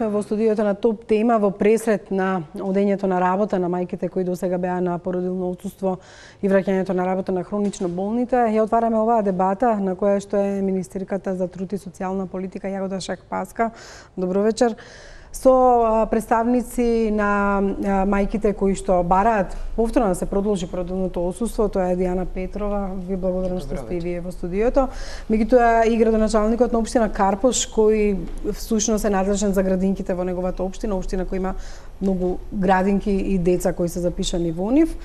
сме во студиото на Топ Тема во пресрет на одењето на работа на мајките кои досега беа на породилно отсуство и враќањето на работа на хронично болните. Ја отвараме оваа дебата на која што е министерката за труд и социјална политика Јагода Шакпаска. Добро вечер. Со представници на мајките кои што бараат повторно да се продолжи породилното отсуство, тоа е Дијана Петрова. Ви благодарам што сте и вие во студиото. Меѓутоа и градоначалникот на општина Карпош, кој всушност е надлежен за градинките во неговата општина која има многу градинки и деца кои се запишани во нив.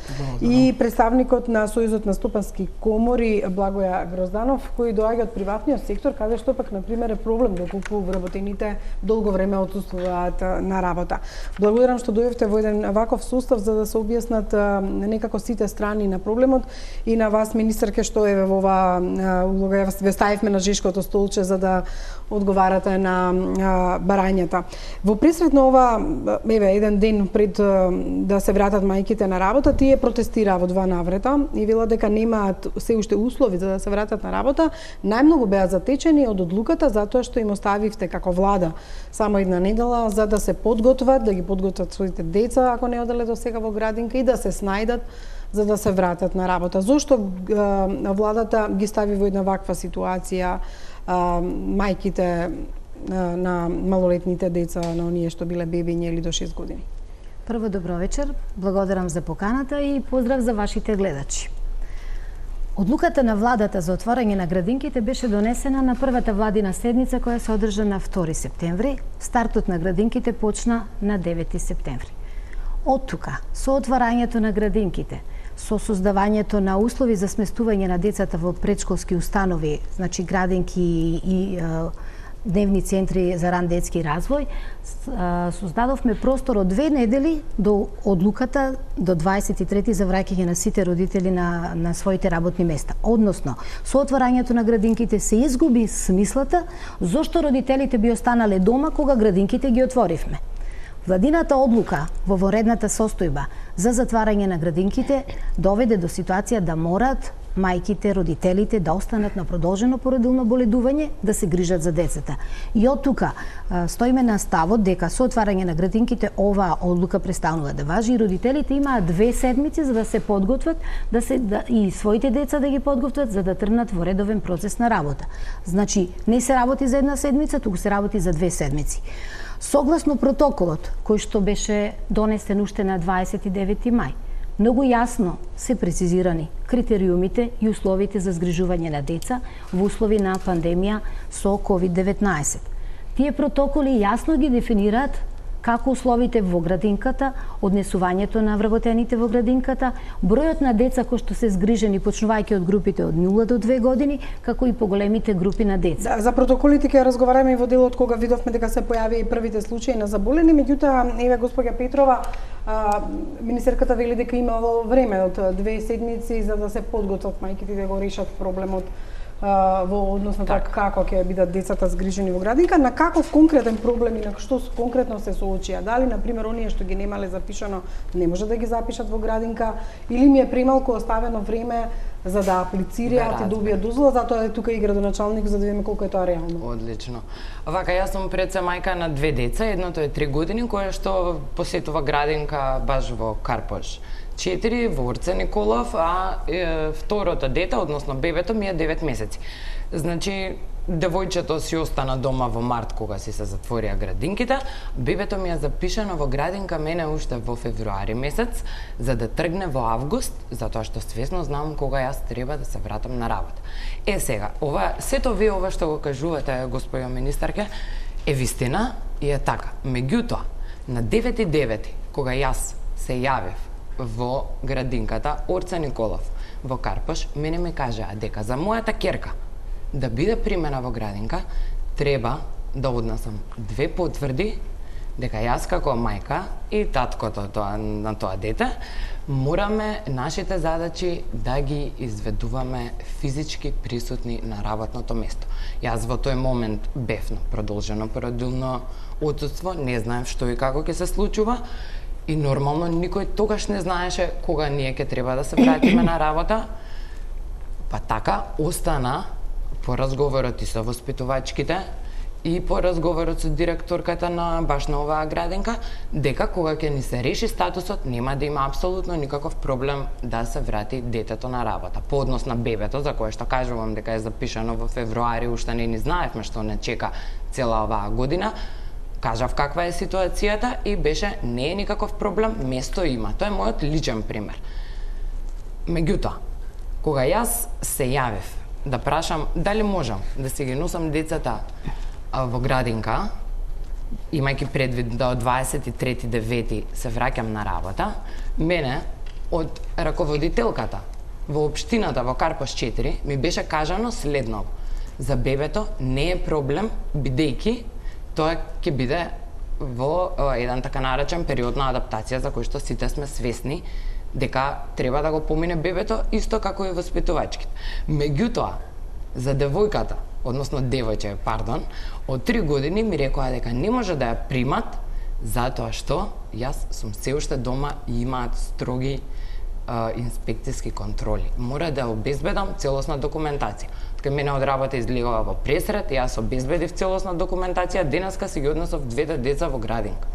И представникот на Сојузот на стопански комори Благоја Грозданов, кој доаѓа од приватниот сектор, каде што пак на пример е проблем доколку вработените долго време отсуствуваат на работа. Благодарам што дојдовте во еден ваков сустав за да се објаснат некако сите страни на проблемот и на вас, министерке, што е во оваа улога. Ве ставивме на жешкото столче за да одговарате на барањата. Во пресрет на ова, еден ден пред да се вратат мајките на работа, тие протестираа во два наврата и велат дека немаат се уште услови за да се вратат на работа. Најмногу беа затечени од одлуката затоа што им оставивте како влада само една недела за да се подготват, да ги подготват своите деца ако не оделе до сега во градинка и да се снајдат за да се вратат на работа. Зошто владата ги стави во една ваква ситуација мајките на малолетните деца, на оние што биле бебиња или до 6 години? Прво, добро вечер. Благодарам за поканата и поздрав за вашите гледачи. Одлуката на владата за отворање на градинките беше донесена на првата владина седница која се одржа на 2 септември. Стартот на градинките почна на 9 септември. Од тука, со отварањето на градинките, со создавањето на услови за сместување на децата во предшколски установи, значи градинки и дневни центри за ран детски развој, создадовме простор од 2 недели до одлуката до 23 за враќање на сите родители на своите работни места. Односно, со отварањето на градинките се изгуби смислата зошто родителите би останале дома кога градинките ги отворивме. Владината одлука во воредната состојба за затварање на градинките доведе до ситуација да морат мајките, родителите да останат на продолжено породилно боледување, да се грижат за децата. И од тука стоиме на ставот дека со отварање на градинките оваа одлука престанува да важи и родителите имаат 2 седмици за да се подготват, и своите деца да ги подготват за да тргнат во редовен процес на работа. Значи, не се работи за една седмица, туку се работи за 2 седмици. Согласно протоколот кој што беше донесен уште на 29 мај, многу јасно се прецизирани критериумите и условите за згрижување на деца во услови на пандемија со COVID-19. Тие протоколи јасно ги дефинираат како условите во градинката, однесувањето на вработените во градинката, бројот на деца кои што се згрижени почнувајќи од групите од 0 до 2 години, како и поголемите групи на деца. За протоколите ќе разговараме и во делот кога видовме дека се појави и првите случаи на заболени, меѓутоа еве госпоѓа Петрова, министерката вели дека имало време од 2 седмици за да се подготват мајките да го решат проблемот во однос на тоа како ќе бидат децата згрижени во градинка, на каков конкретен проблем и на што конкретно се соочија? Дали, например, оние што ги немале запишано не може да ги запишат во градинка или ми е премалку оставено време за да аплицираат и добијат дозвола, затоа е тука и градоначалник за да видиме колку е тоа реално. Одлично. Вака, јас сум пред се мајка на 2 деца, едното е 3 години, кое што посетува градинка баш во Карпош. 4 во Орце Николов, а второто дете, односно бебето ми е 9 месеци. Значи, девојчето си остана дома во март кога си се затворија градинките, бебето ми е запишано во градинка мене уште во февруари месец, за да тргне во август, затоа што свесно знам кога јас треба да се вратам на работа. Сега, сето вие ова што го кажувате, господја министарке, е вистина и е така. Меѓутоа, на 9.9, кога јас се јавив во градинката Орце Николов во Карпош, мене ми кажаа дека за мојата керка да биде примена во градинка, треба да однесам 2 потврди дека јас како мајка и таткото на тоа дете мораме нашите задачи да ги изведуваме физички присутни на работното место. Јас во тој момент бев на продолжено породилно отсуство, не знаев што и како ќе се случува. И нормално никој тогаш не знаеше кога ние ќе треба да се вратиме на работа. Па така остана по разговорот и со воспитувачките и по разговорот со директорката на баш на оваа градинка, дека кога ќе ни се реши статусот, нема да има апсолутно никаков проблем да се врати детето на работа. По однос на бебето, за кое што кажувам дека е запишано во февруари, уште не ни знаевме што не чека цела оваа година, кажав каква е ситуацијата и беше не е никаков проблем, место има. Тоа е мојот личен пример. Меѓутоа, кога јас се јавив да прашам дали можам да си ги носам децата во градинка, имајќи предвид да од 23.9 се враќам на работа, мене од раководителката во општината во Карпош 4 ми беше кажано следното: за бебето не е проблем, бидејќи тоа ќе биде во еден така наречен период на адаптација за кој што сите сме свесни дека треба да го помине бебето исто како и воспитувачките. Меѓутоа, за девојката, односно девојче, пардон, од 3 години ми рекоа дека не може да ја примат затоа што јас сум се уште дома и имаат строги инспекцијски контроли. Мора да обезбедам целосна документација. Така мене од работа излегува во пресрет, јас обезбедив целосна документација, денеска си ги однесов двете деца во градинка.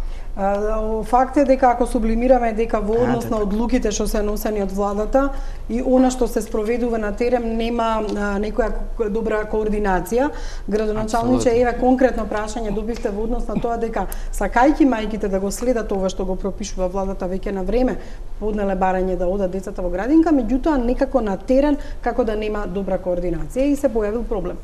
Факт е дека ако сублимираме дека во однос на одлуките што се носени од владата и она што се спроведува на терен нема некоја добра координација, градоначалниче, еве конкретно прашање добивте во однос на тоа дека сакајќи мајките да го следат ова што го пропишува владата веќе на време, поднеле барање да одат децата во градинка, меѓутоа некако на терен како да нема добра координација и се појавил проблем.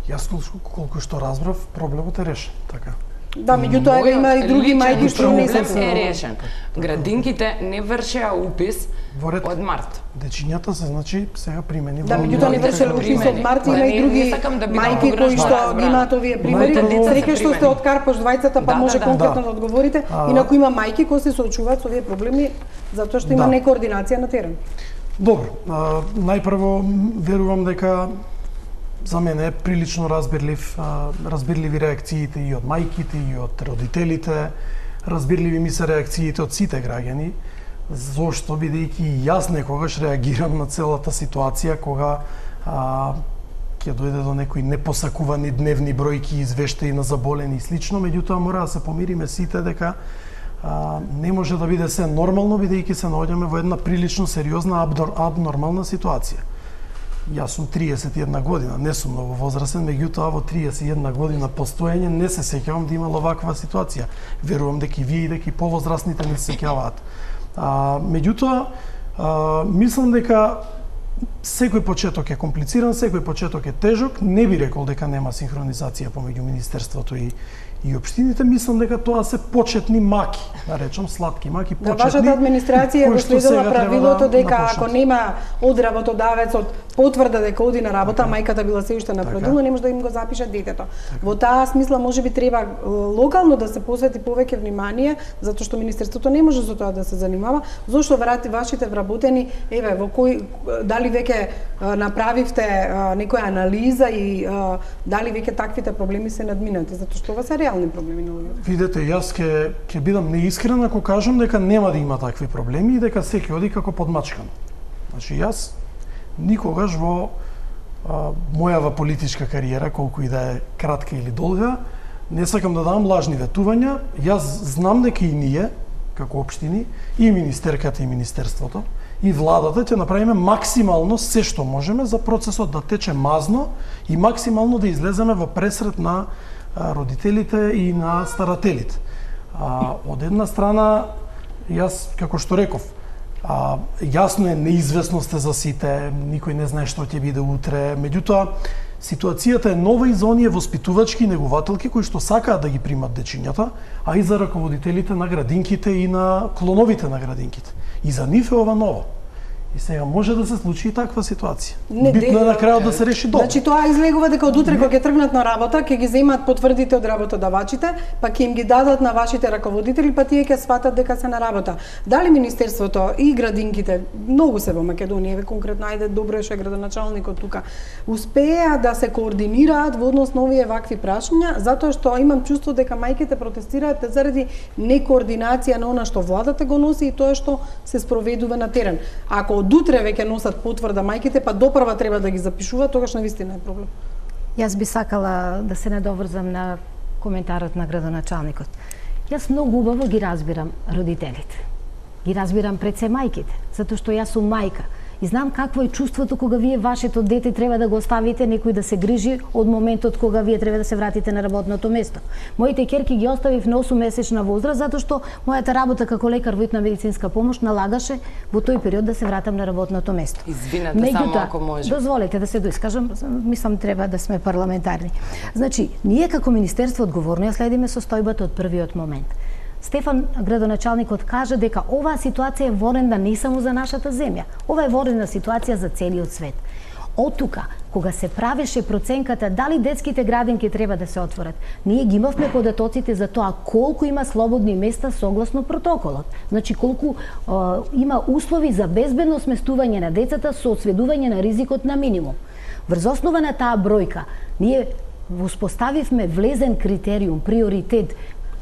Јас колку што разбрав, проблемот е решен, така. Да, меѓутоа има и други мајки што не се решен. Градинките не вршеа упис од март. Дечињата се значи сега примени. Да, меѓутоа не вршеле упис од март, има и други мајки кои што имаат овие примери. Среќа што сте од Карпош двајцата, па може конкретно да одговорите. Инаку има мајки кои се соочуваат со овие проблеми затоа што има некоординација на терен. Добро, најпрво верувам дека за мене е прилично разбирливи реакциите и од мајките и од родителите, разбирливи ми се реакциите од сите граѓани, зошто бидејќи јас некогаш реагирам на целата ситуација кога ќе дојде до некои непосакувани дневни бројки, извештаи на заболени и слично, меѓутоа мора да се помириме сите дека не може да биде се нормално бидејќи се наоѓаме во една прилично сериозна абнормална ситуација. Јас сум 31 година, не сум многу возрастен, меѓутоа во 31 година постоење не се сеќавам да имало ваква ситуација. Верувам дека и вие и дека и повозрастните не се сеќаваат. Меѓутоа, мислам дека секој почеток е комплициран, секој почеток е тежок. Не би рекол дека нема синхронизација помеѓу Министерството и општините. Мислам дека тоа се почетни маки, да речам сладки маки, почетни. Да, вашата администрација го следела правилото дека ако нема од работодавецот потврда дека оди на работа, мајката била се уште на продума, не може да им го запише детето. Во таа смисла можеби треба локално да се посвети повеќе внимание, затоа што Министерството не може со тоа да се занимава. Зошто вашите вработени, еве, во кој дали веќе направивте некоја анализа и дали веќе таквите проблеми се надминати, затоа што ова се реални проблеми на луѓето. Видете, јас ќе бидам неискрен ако кажам дека нема да има такви проблеми и дека секој оди како подмачкан. Значи јас никогаш во мојава политичка кариера, колку и да е кратка или долга, не сакам да дам лажни ветувања. Јас знам дека и ние, како општини, и министерката и Министерството, и владата ќе направиме максимално се што можеме за процесот да тече мазно и максимално да излеземе во пресрет на родителите и на старателите. Од една страна, јас, како што реков, јасно е неизвестноста за сите, никој не знае што ќе биде утре, меѓутоа, ситуацијата е нова и за оние воспитувачки и негователки кои што сакаат да ги примат дечињата, а и за раководителите на градинките и на клоновите на градинките. И за нив е ова ново. И сега може да се случи и таква ситуација. Битно е на крајот да се реши добро. Значи тоа излегува дека од утре кога ќе тргнат на работа, ќе ги земат потврдите од работодавачите, па ќе им ги дадат на вашите раководители, па тие ќе сватат дека се на работа. Дали Министерството и градинките, многу се во Македонија, еве конкретно, ајде добро е што е градоначалникот тука, успеа да се координираат во однос на овие вакви прашања, затоа што имам чувство дека мајките протестираат заради некоординација на она што владата го носи и тоа што се спроведува на терен. Ако од утре веќе носат потврда мајките, па допрва треба да ги запишуваат, тогаш навистина е проблем. Јас би сакала да се надоврзам на коментарот на градоначалникот. Јас многу убаво ги разбирам родителите. Ги разбирам пред се мајките, затоа што јас сум мајка. И знам какво е чувството кога вие вашето дете треба да го оставите некој да се грижи од моментот кога вие треба да се вратите на работното место. Моите ќерки ги оставив на 8-месечна возраст затоа што мојата работа како лекар во итна медицинска помош налагаше во тој период да се вратам на работното место. Извинете, само ако може. Дозволете да се доискажам, мислам треба да сме парламентарни. Значи, ние како министерство одговорно ја следиме состојбата од првиот момент. Стефан, градоначалникот, кажа дека оваа ситуација е ворена не само за нашата земја. Ова е ворена ситуација за целиот свет. Од тука, кога се правеше проценката дали детските градинки треба да се отворат, ние ги имавме податоците за тоа колку има слободни места согласно протоколот. Значи, колку има услови за безбедно сместување на децата со осведување на ризикот на минимум. Врз основа на таа бројка, ние воспоставивме влезен критериум, приоритет,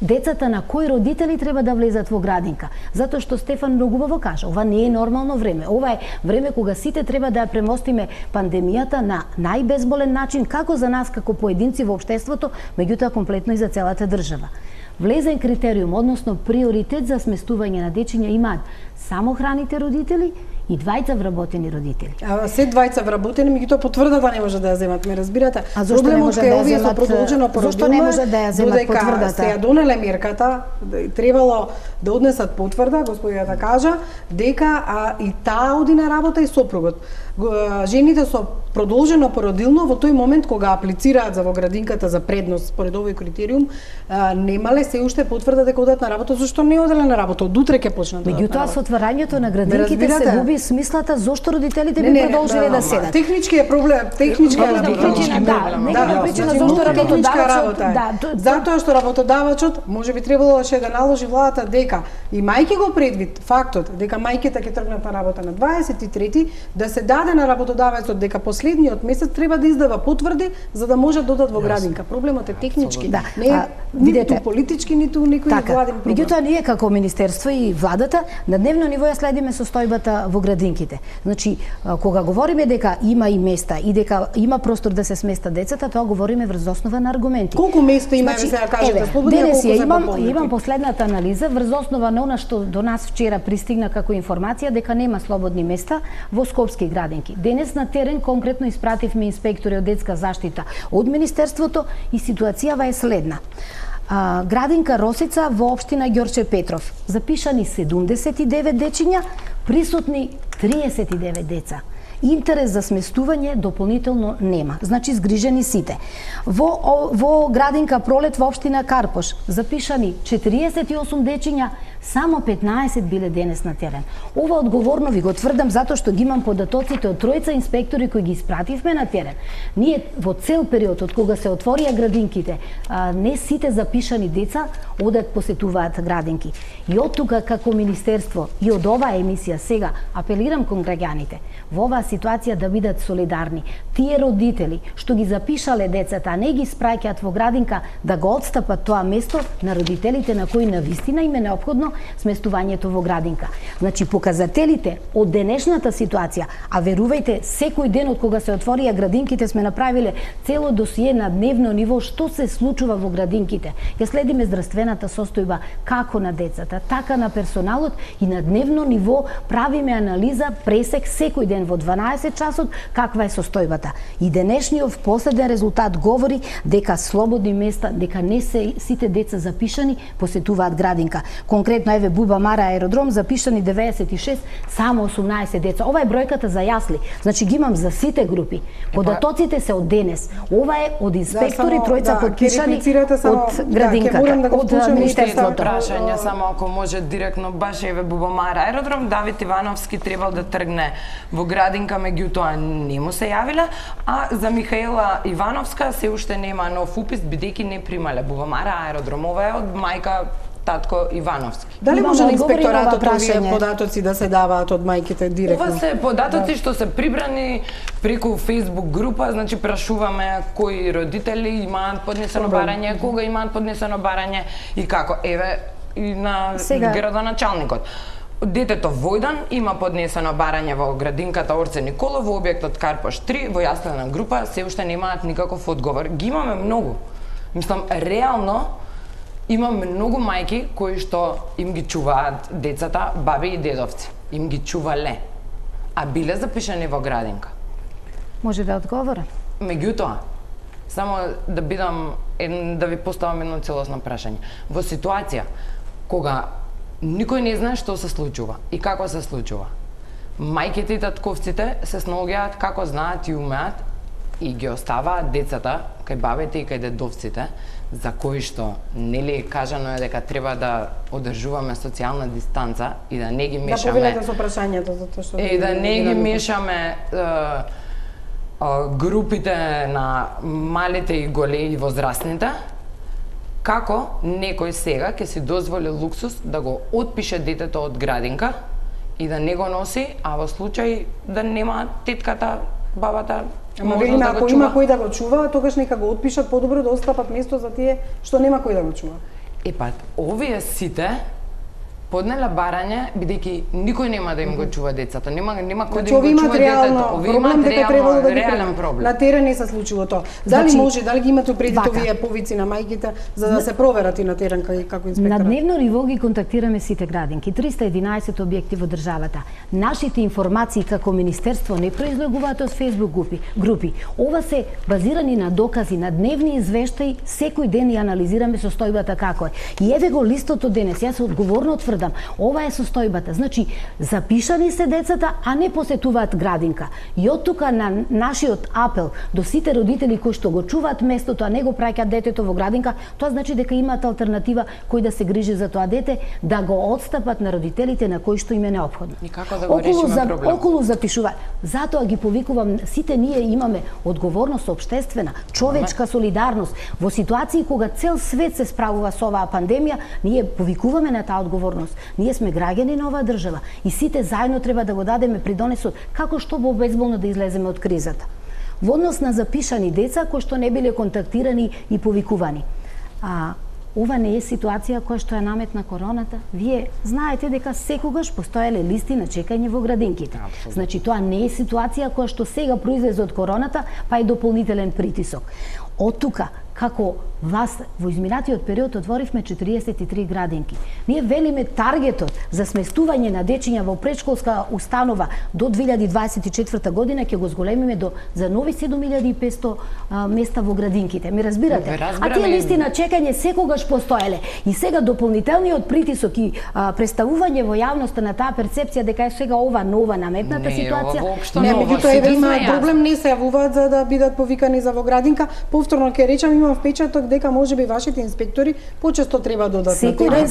децата на кои родители треба да влезат во градинка. Затоа што Стефан многу убаво кажа, ова не е нормално време. Ова е време кога сите треба да ја премостиме пандемијата на најбезболен начин, како за нас, како поединци во општеството, меѓутоа комплетно и за целата држава. Влезен критериум, односно приоритет за сместување на дечиња имаат самохраните родители и двајца вработени родители. А се двајца вработени, меѓутоа потврдата не може да ја земат, ме разбирате? А зошто не може да ја земат? Зошто не може да ја земат потврдата? Се ја донеле мерката, требало да однесат потврда, господијата кажа, дека и таа оди на работа и сопругот. Жените со продолжено породилно во тој момент кога аплицираат за во градинката за предност според овој критериум, немале се уште потврда дека одат на работа, зашто не оделе на работа, од утре ќе почнат да одат на работа. Меѓутоа со отварањето на градинките се губи смислата зошто родителите би продолжиле да седат. Технички е проблем, техничка причина зошто работодавачот, затоа што работодавачот можеби требало да наложи владата дека и мајки го предвид фактот дека мајките ќе тргнат на работа на 23 да се даде на работодавецот дека последниот месец треба да издава потврди за да може да одат во градинка. Проблемот е технички, не е ниту политички, ниту некој владин проблем. Меѓутоа ние како министерство и владата на дневно ниво ја следиме состојбата во градинките. Значи, кога говориме дека има и места и дека има простор да се сместат децата, тоа говориме врз основа на аргументи. Колку места има, се ја кажете, слободно, денес колку имам последната анализа врз основа на она што до нас вчера пристигна како информација дека нема слободни места во скопски градинки. Денес на терен конкретно испративме инспектори од детска заштита од министерството и ситуацијава е следна. Градинка Росица во општина Ѓорче Петров. Запишани 79 дечиња, присутни 39 деца. Интерес за сместување дополнително нема. Значи згрижени сите. Во градинка Пролет во општина Карпош запишани 48 дечиња, само 15 биле денес на терен. Ова одговорно ви го тврдам затоа што ги имам податоците од тројца инспектори кои ги испративме на терен. Ние во цел период од кога се отворија градинките, не сите запишани деца одат посетуваат градинки. И од тука како министерство и од оваа емисија сега апелирам кон граѓаните во оваа ситуација да бидат солидарни. Тие родители што ги запишале децата, а не ги спраќаат во градинка, да го отстапат тоа место на родителите на кои навистина им е неопходно сместувањето во градинка. Значи показателите од денешната ситуација, а верувајте, секој ден од кога се отворија градинките сме направиле цело досие на дневно ниво што се случува во градинките. Ја следиме здравствената состојба како на децата, така на персоналот и на дневно ниво правиме анализа, пресек секој ден во 12 часот каква е состојбата. И денешниот последен резултат говори дека слободни места, дека не се сите деца запишани посетуваат градинка. Конкретно еве Буба Мара аеродром запишани 96, само 18 деца. Ова е бројката за јасли. Значи ги имам за сите групи. Податоците се од денес. Ова е од инспектори тројца подпишани од градинката, од министерството. Прашање само ако може директно баш еве Буба Мара аеродром, Давид Ивановски требал да тргне во градинка, меѓутоа не му се јавиле, а за Михаела Ивановска се уште нема нов упис бидејќи не примале Буба Мара аеродром. Ова е од мајка татко Ивановски. Дали може на инспекторатот овие податоци да се даваат од мајките директно? Ова се податоци што се прибрани преку Facebook група, значи прашуваме кои родители имаат поднесено барање, кога имаат поднесено барање и како. Еве и на градоначалникот. Детето Војдан има поднесено барање во градинката Орце Николов во објектот Карпош 3 во јаслена група, се уште немаат никаков одговор. Ги имаме многу. Мислам, реално имаме многу мајки кои што им ги чуваат децата, баби и дедовци. Им ги чувале, а биле запишани во градинка. Може да одговора? Меѓутоа, само да да ви поставам едно целосно прашање. Во ситуација кога никој не знае што се случува и како се случува, мајките и татковците се снаоѓаат како знаат и умеат и ги оставаат децата кај бабите и кај дедовците, за кои што нели кажано е дека треба да одржуваме социјална дистанца и да не ги мешаме. Да повелете со прашањето, затоа што да не ги мешаме групите на малите и големи возрастните. Како некој сега ќе си дозволи луксус да го отпише детето од градинка и да не го носи, а во случај да нема тетката, бабата, можност да го чува. Ако има кој да го чува, тогаш нека го отпишат, подобро да остапат место за тие што нема кој да го чува. Овие сите поднеле барање, бидејќи никој нема да им го чува децата, нема кој да им го чува детето. Овие имаат реален проблем. На терен не се случило тоа. Дали може, дали ги имате предвид овие повици на мајките за да се проверат и на терен како инспекторат? На дневно ниво ги контактираме сите градинки, 311 објекти во државата. Нашите информации како министерство не произлегуваат од Facebook групи. Ова се базирани на докази, на дневни извештаи, секој ден ја анализираме состојбата како е. И еве го листот од денес, јас одговорно тврдам, ова е состојбата. Значи, запишани се децата, а не посетуваат градинка. И од тука на нашиот апел до сите родители кои што го чуваат местото, а не го праќаат детето во градинка, тоа значи дека имаат алтернатива кој да се грижи за тоа дете, да го отстапат на родителите на кои што им е неопходно. И како да го решиме проблемот? Околу запишува. Затоа ги повикувам, сите ние имаме одговорност општествена, човечка солидарност. Во ситуации кога цел свет се справува со оваа пандемија, ние повикуваме на таа одговорност. Ние сме граѓани на оваа држава и сите заедно треба да го дадеме придонесот како што безболно да излеземе од кризата. Во однос на запишани деца кои што не биле контактирани и повикувани. Ова не е ситуација која што е наметна короната. Вие знаете дека секогаш постоеле листи на чекање во градинките. Значи тоа не е ситуација која што сега произлезе од короната, па е дополнителен притисок. Од тука, како вас во изминатиот период отворивме 43 градинки. Ние велиме таргетот за сместување на дечиња во претшколска установа до 2024 година ќе го зголемиме за нови 7500 места во градинките. Ми разбирате? А тие листи на чекање секогаш постоеле. И сега дополнителниот притисок и представување во јавноста на таа перцепција дека е сега ова нова наметната ситуација. Не, меѓутоа има проблем, не се јавуваат за да бидат повикани за во градинка. Повторно ќе речам, имам впечаток дека можеби вашите инспектори почесто треба да додат на терен.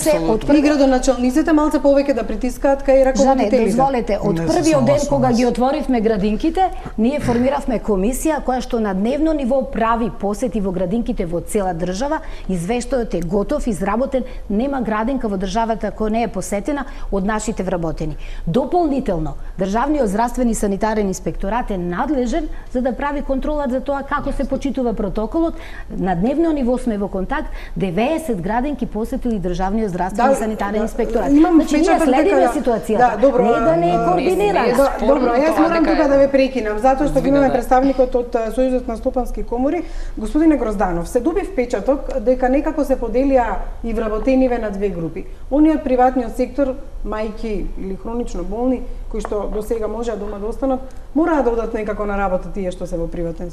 И градоначалниците малце повеќе да притискаат кај раководителите. Жане, дозволете, од првиот ден кога ги отворивме градинките, ние формиравме комисија која што на дневно ниво прави посети во градинките во цела држава. Извештајот е готов, изработен, нема градинка во државата која не е посетена од нашите вработени. Дополнително, Државниот здравствен и санитарен инспекторат е надлежен за да прави контрола за тоа како се почитува протоколот. На дневно ниво сме во контакт, 90 градинки посетили Државниот здравствен и санитарен инспекторат. Значи ние следиме ситуацијата. Не да не е координирана. Добро, јас морам тука да ве прекинам, затоа што имаме представникот од Сојузот на стопански комори, господине Грозданов. Се доби впечаток дека некако се поделија и вработениве на две групи. Они од приватниот сектор, мајки или хронично болни, кои што до сега можеа дома да останат, мораа да одат некако на работа тие што се во приватен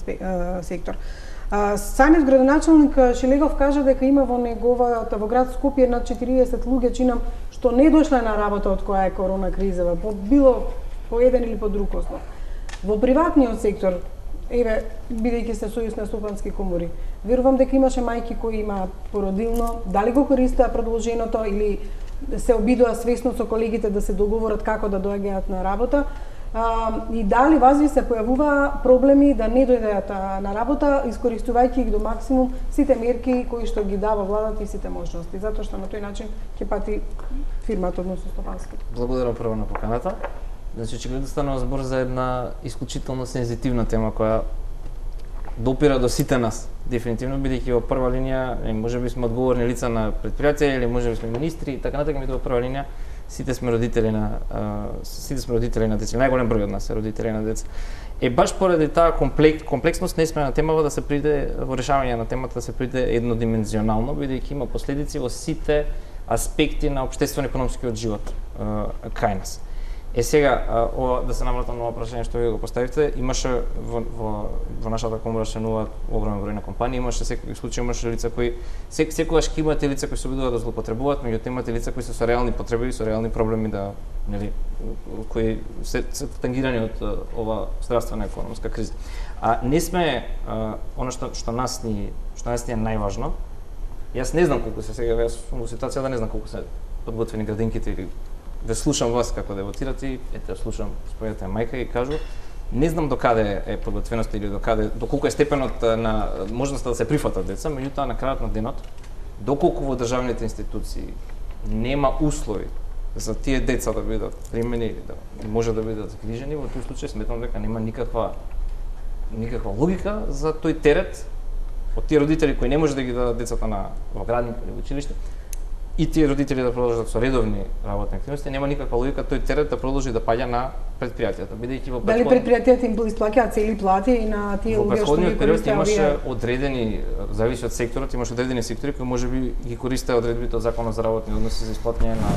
сектор. Самиот градоначалник Шилегов кажа дека има во неговата во град Скопје над 40 луѓе, чинам, што не дошле на работа од која е корона кризава, по еден или по друг ослов. Во приватниот сектор, еве, бидејќи се Сојуз на стопански комори, верувам дека имаше мајки кои имаат породилно, дали го користеа продолженото или се обидоа свесно со колегите да се договорат како да доаѓаат на работа, и дали вази се појавува проблеми да не дојдат на работа, искористувајќи ги до максимум сите мерки кои што ги дава владата и сите можности, затоа што на тој начин ќе пати фирмата, односно стопанската. Благодарам прво на поканата. Значи, очигледно станува збор за една исклучително сензитивна тема која допира до сите нас. Дефинитивно, бидејќи во прва линија, можеби сме одговорни лица на предпријатија или можеби сме министри, така натака, во прва линија сите сме родители на деца. Најголем број од нас е родители на деца. Баш поради таа комплексност не сме на темава да се приде во решавање на темата да се приде еднодимензионално, бидејќи има последици во сите аспекти на општествено-економскиот живот кај нас. Сега, да се навратам на прашање што ви го поставивте, имаше во нашата комора членуваат огромен број на компании, имаше секој случај, имаше лица кои секогаш ќе имате лица кои се обидуваат да злоупотребуваат, меѓутоа имате лица кои се со реални потреби, со реални проблеми кои се тангирани од ова здравствена економска криза. Не сме она што нас ни е најважно. Јас не знам колку се сега во ситуација да не знам колку се подготвени градинките или да слушам вас како дебатирате и слушам својата мајка и кажу, не знам докаде е подготвеноста или доколку е степенот на можноста да се прифатат деца, меѓутоа на крајот на денот, доколку во државните институции нема услови за тие деца да бидат примени или да може да бидат загрижени, во тој случај сметам дека нема никаква логика за тој терет од тие родители кои не може да ги дадат децата во градинка или во училиште, и тие родители да продолжат со редовни работни активности, нема никаква логика тој терет да продолжи да паѓа на предпријатијата, бидејќи во Дали предпријатијата им исплаќаат цели плати и на тие луѓе што ги користат? Имаше одредени, зависи од секторот, имаше одредени сектори кои можеби ги користеа одредбите од Законот за работни односи за исплаќање на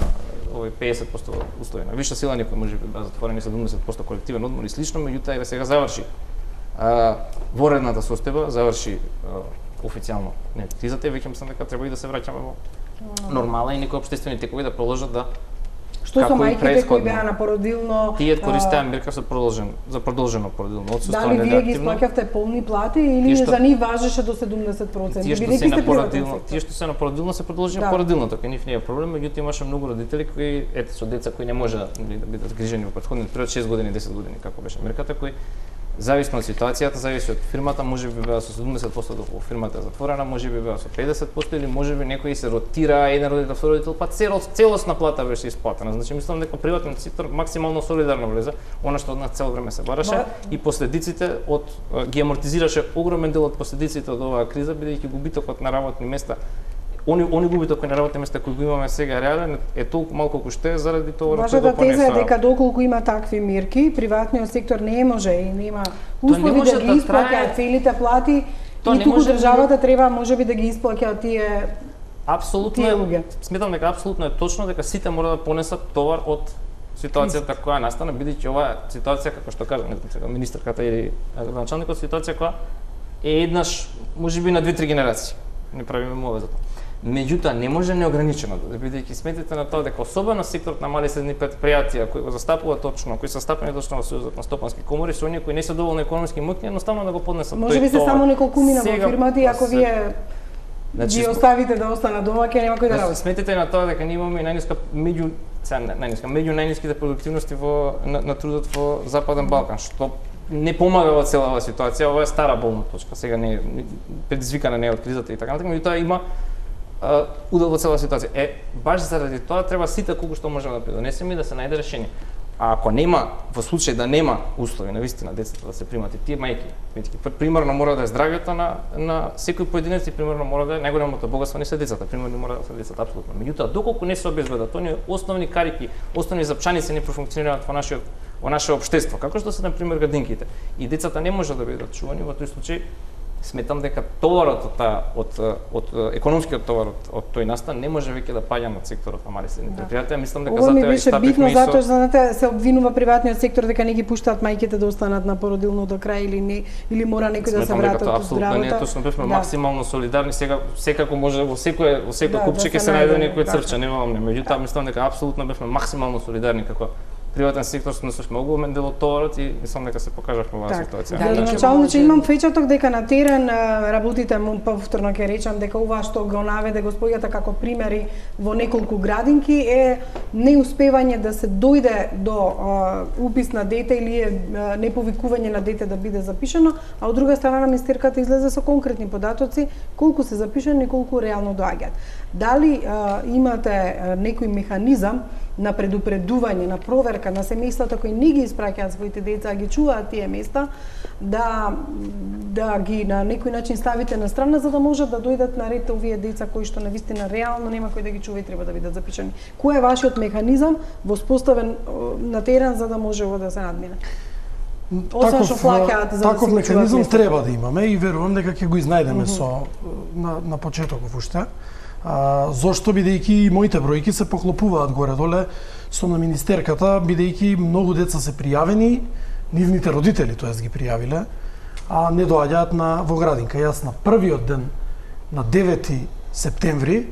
овој 50% услови. На висша сила некои можеби беа затворени 70% колективен одмор и слично, меѓутоа еве сега заврши воредната состојба, заврши официјално кризата и веќе мислам дека треба и да се враќаме во нормала и некои општествени текови да продолжат да Што со мајките кои беа на породилно? Тие користеа мерка за продолжено породилно отсуство. Дали вие ги исплаќавте полни плати или за нив важеше до 70%? Тие што се на породилно се продолжи на породилното, кај нив не е проблем, меѓутоа имаше многу родители кои со деца кои не може да бидат грижени во претходниот период 6 години, 10 години како беше мерката, кои зависно од ситуацијата, зависи од фирмата, можеби беа со 70% доколку фирмата е затворена, можеби беа со 50% или можеби некои се ротира еден родител, втори родител, па целосна плата беше исплатена. Значи мислам дека приватниот сектор максимално солидарно влезе, она што од нас цело време се бараше и последиците ги амортизираше огромен дел од последиците од оваа криза, бидејќи губитокот на работни места они губиток кои на работни места кои го имаме сега реален е толку малку колку што е заради тоа Вашата теза е дека доколку има такви мерки, приватниот сектор не може и нема услови да ги исплаќаат целите плати и туку државата треба можеби да ги исплаќа тие луѓе. Сметам дека апсолутно е точно дека сите мора да понесат товар од ситуацијата која настана, бидејќи оваа ситуација како што кажа министерката или началникот, ситуација која е еднаш можеби на 2-3 генерации. Не правиме мове за тоа. Меѓутоа не може неограничено да бидејќи сметите на тоа дека особено секторот на мали и средни предпријатија кои го застапуваат точно, кои се стапени точно во Сојузот на стопански комори, со оние кои не се доволно економски моќни, едноставно да го поднесат. Може би се само неколку мина во фирмата и ако вие ги оставите да останат домаќи, нема кој да работи. Сметите на тоа дека ние имаме најниска меѓу најниските продуктивности на трудот во Западен Балкан, што не помага во целава ситуација, ова е стара болна точка, сега не е предизвикана не од кризата и така натаму, меѓутоа има удел во цела ситуација. Баш заради тоа треба сите колку што можеме да придонесеме и да се најде решение. А ако нема, во случај да нема услови навистина децата да се примат и тие мајки, примерно мора да е здравјето на секој поединец и примерно мора да е најголемото богатство не се децата, примерно мора да се децата апсолутно. Меѓутоа доколку не се обезбедат оние основни карики, основни запчаници не профункционираат во наше општество, како што се на пример градинките, и децата не може да бидат чувани, во тој случај сметам дека товарот од економскиот товар од тој настан не може веќе да паѓа на секторот на мали и средни предпријатија. Мислам дека затоа беше битно затоа што знаете се обвинува приватниот сектор дека не ги пуштаат мајките да останат на породилно до крај или мора некој да се вратат од здравото. Апсолутно не, точно бевме максимално солидарни, сега секако може во секој купче ќе се најде некој црвче, немам, меѓутоа мислам дека апсолутно бевме максимално солидарни како приватен сектор снесувме огромен дел од товарот и мислам дека се покажавме во оваа ситуација. Градоначалниче, имам впечаток дека на терен работите, повторно ќе речам дека ова што го наведе господјата како примери во неколку градинки е неуспевање да се дојде до упис на дете или неповикување на дете да биде запишано, а од друга страна министерката излезе со конкретни податоци колку се запишани и колку реално доаѓаат. Дали имате некој механизам на предупредување, на проверка на семејствата кои не ги испраќаат своите деца, а ги чуваат тие места, да ги на некој начин ставите на страна за да можат да дојдат на ред овие деца кои што навистина реално нема кој да ги чува и треба да бидат запишани. Кој е вашиот механизам воспоставен на терен за да може ово да се надмине? Таков механизам треба да имаме и верувам дека ќе го изнајдеме на почетоков уште. Зошто бидејќи моите бројки се поклопуваат горе-доле со на министерката, бидејќи многу деца се пријавени, нивните родители тоест ги пријавиле, а не доаѓаат во градинка. Јас на првиот ден, на 9 септември,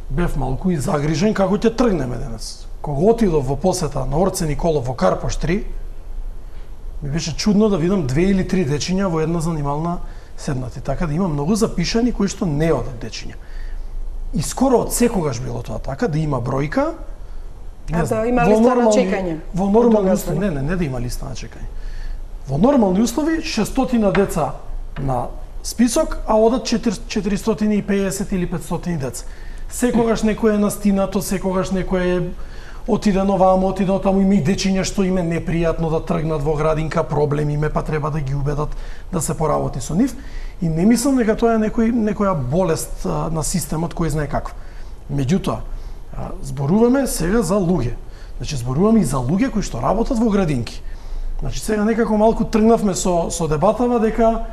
бев малку и загрижен како ќе тргнеме денес. Кога отидов во посета на Орце Николов во Карпош 3, ми беше чудно да видам 2 или 3 дечиња во една занимална седнати. Така да има многу запишани кои што не одат дечиња. И скоро од секогаш било тоа така, да има бројка, да има листа на чекање. Во нормални услови, не да има листа на чекање. Во нормални услови 600 деца на список, а одат 450 или 500 деца. Секогаш некој е настинато, секогаш некој е отидено вамо, отидено таму, има и дечиња што им е непријатно да тргнат во градинка, проблем име, па треба да ги убедат да се поработи со нив. И не мислам дека тоа е некоја болест на системот кој знае каква. Меѓутоа, зборуваме сега за луѓе. Значи, зборуваме и за луѓе кои што работат во градинки. Значи, сега некако малку тргнавме со дебатава дека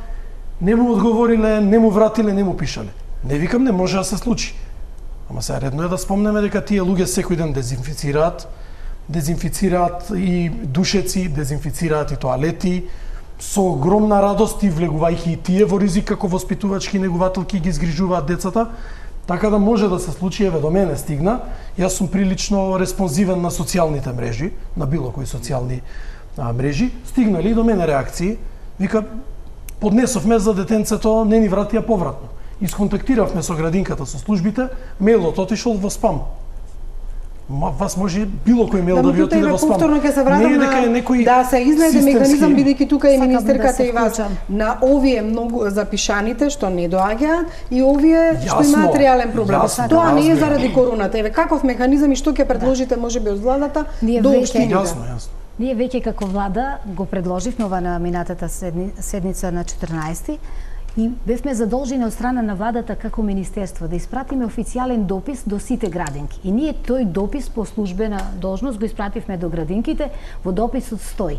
не му одговориле, не му вратиле, не му пишале. Не викам, не може да се случи. Ама сега редно е да спомнеме дека тие луѓе секој ден дезинфицираат и душеци, дезинфицираат и тоалети, со огромна радост и влегувајќи и тие во ризик како воспитувачки негувателки ги згрижуваат децата, така да може да се случи, еве до мене стигна. Јас сум прилично респонзивен на социјалните мрежи, на било кои социјални мрежи, стигнали и до мене реакции, вика, поднесовме за детенцето, не ни вратија повратно. Исконтактиравме со градинката, со службите, мејлот отишол во спам. Вас може било кој мејл да ви отиде во спам. Повторно ќе се вратам да се изнајде механизам, бидејќи тука и министерката и вас на овие многу запишаните што не доаѓаат и овие што имаат реален проблем. Тоа не е заради короната. Еве каков механизам и што ќе предложите можеби од владата до општините? Јасно. Ние веќе како влада го предложивме ова на минатата седница на 14 и бевме задолжени од страна на владата како министерство да испратиме официјален допис до сите градинки. И ние тој допис по службена должност го испративме до градинките, во дописот стои: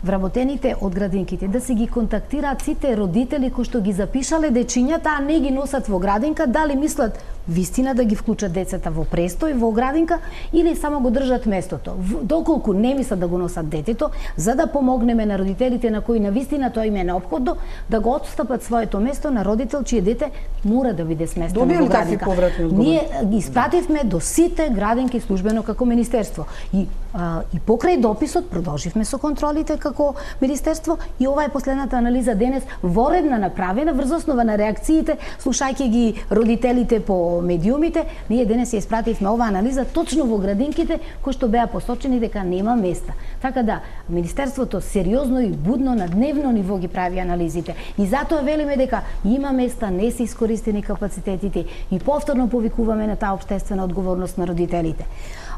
вработените од градинките да се ги контактираат сите родители кои што ги запишале дечињата, а не ги носат во градинка, дали мислат вистина да ги вклучат децата во престој во градинка или само го држат местото. Доколку не мислат да го носат детето, за да помогнеме на родителите на кои навистина тоа им е неопходно, да го отстапат своето место на родител чие дете мора да биде сместено во градинка. Ние ги испративме до сите градинки службено како министерство. И покрај дописот продолживме со контролите како министерство и ова е последната анализа денес воредна направена врз основа на реакциите, слушајќи ги родителите по медиумите, ние денес ја испративме ова анализа точно во градинките кои што беа посочени дека нема места. Така да, министерството сериозно и будно на дневно ниво ги прави анализите. И затоа велиме дека има места, не се искористени капацитетите и повторно повикуваме на таа општествена одговорност на родителите.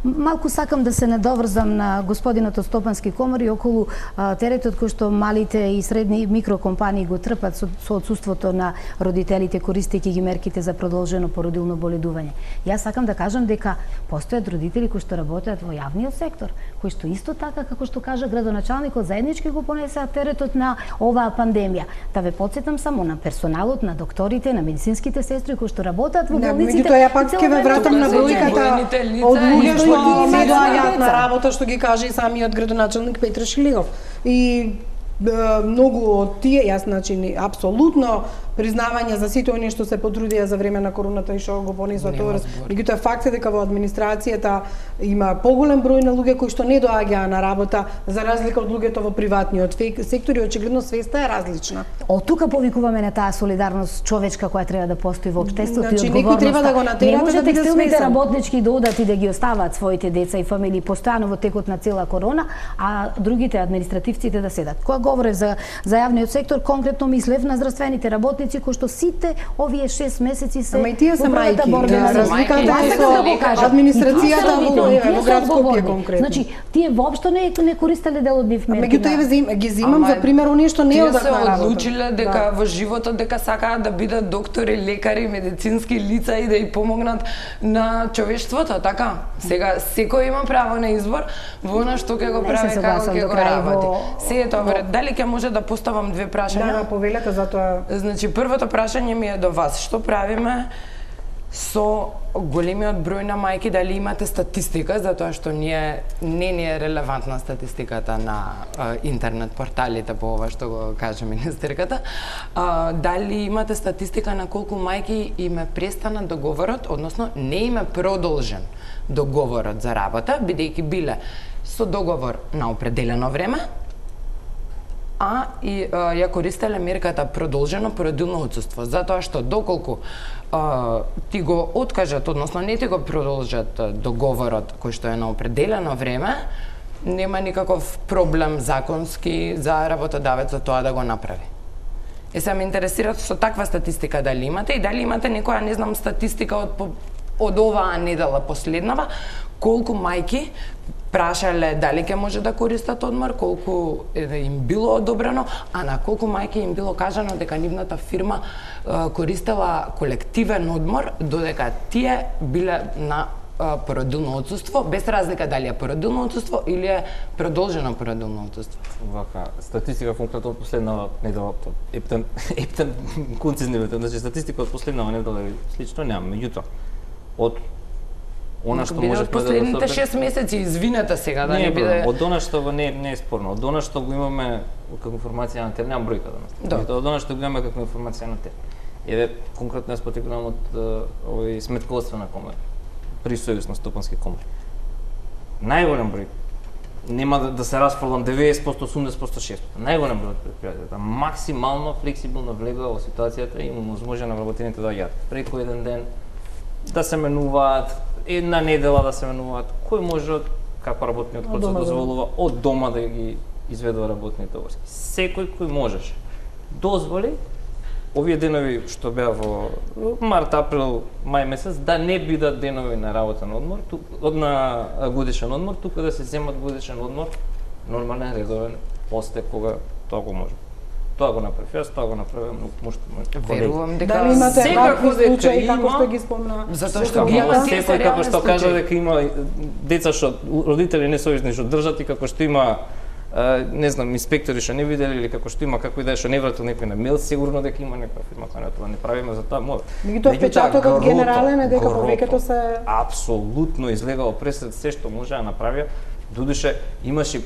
Малку сакам да се надоврзам на господинот од Стопански комори околу теретот кој што малите и средни микрокомпании го трпат со отсуството на родителите користејќи ги мерките за продолжено породилно боледување. Јас сакам да кажам дека постојат родители кои што работат во јавниот сектор, кои што исто така како што кажа градоначалникот заеднички го понесеа теретот на оваа пандемија. Да ве потсетам само на персоналот, на докторите, на медицинските сестри кои што работат во болниците. Меѓутоа ја пак ќе ве вратам на бројката од луѓе што не доаѓаат на работа, што ги каже и самиот градоначалник Петар Шилегов. И многу од тие, јас значи апсолутно признавање за сите оние што се потрудија за време на короната и што го понесоа тоа. Меѓутоа факт е дека во администрацијата има поголем број на луѓе кои што не доаѓаа на работа за разлика од луѓето во приватниот сектор и очигледно свеста е различна. Од тука повикуваме на таа солидарност човечка која треба да постои во општеството и одговорноста. Некој треба да го натера да биде текстилните работнички да одат и да ги оставаат своите деца и фамилии постојано во текот на цела корона, а другите административците да седат. Кога говорев за јавниот сектор, конкретно мислев на здравствените работници работници кои што сите овие 6 месеци се Ама и тие се мајки. Разликата е со администрацијата во град Скопје конкретно. Значи, тие воопшто не користеле дел од нив мерки. Меѓутоа ги земам за пример оние што не одат на работа. Тие се одлучиле дека во животот дека сакаат да бидат доктори, лекари, медицински лица и да ја помогнат на човештвото, така? Сега секој има право на избор во она што ќе го прави, како ќе го работи. Се е тоа, дали ќе може да поставам две прашања? Да, повелете за тоа. Значи, првото прашање ми е до вас. Што правиме со големиот број на мајки, дали имате статистика, затоа што не ни е релевантна статистиката на интернет порталите по ова што го каже министерката. Дали имате статистика на колку мајки им е престана договорот, односно не им е продолжен договорот за работа, бидејќи биле со договор на определено време, а и ја користеле мерката продолжено породилно отсуство, затоа што доколку ти го откажат, односно не ти го продолжат договорот кој што е на определено време, нема никаков проблем законски за работодавецот тоа да го направи. Се ме интересира со таква статистика дали имате и дали имате некоја, не знам, статистика од оваа недела последнава, колку мајки прашале дали ќе може да користат одмор, колку им било одобрено, а на колку мајки им било кажано дека нивната фирма користела колективен одмор, додека тие биле на породилно отсуство, без разлика дали е породилно отсуство или е продолжено породилно отсуство. Вака, статистика конкретно од последнава недела, ептен концизни, значи статистика од последнава недела слично немам, меѓутоа од она што може последните 6 месеци, извинете сега да не биде. Од она што не е спорно, од она што го имаме како информација на терен, немам бројка данас. Од она што го имаме како информација на терен. Еве конкретно јас потекнувам од овој сметководствена комора, при Сојуз на стопански комори. Најголем број, нема да се расфрлам 90%, 80%, 60%. Најголем број од предпријатијата максимално флексибилно влегува во ситуацијата и му може на вработените да јат преку еден ден да се менуваат, една недела да се менуваат, кој може како работниот процес дозволува од дома да ги изведува работните обврски. Секој кој можеше дозволи овие денови што беа во март, април, мај месец да не бидат денови на работен одмор, на годишен одмор, туку да се земат годишен одмор нормален, редовен, после кога тоа го може. Тоа го направи јас, тоа го направи Верувам дека дали имате вакви случаи како што ги спомна? Затоа што ги има тие секој како што кажа дека има деца што родители несовесни што држат и како што има не знам инспектори што не виделе или како што има како и да е што не вратил некој на мејл, сигурно дека има некоја фирма која тоа не правиме за тоа може. Меѓутоа впечатокот генерален е дека повеќето се апсолутно излегало пресед се што може да направи. Додуше имаше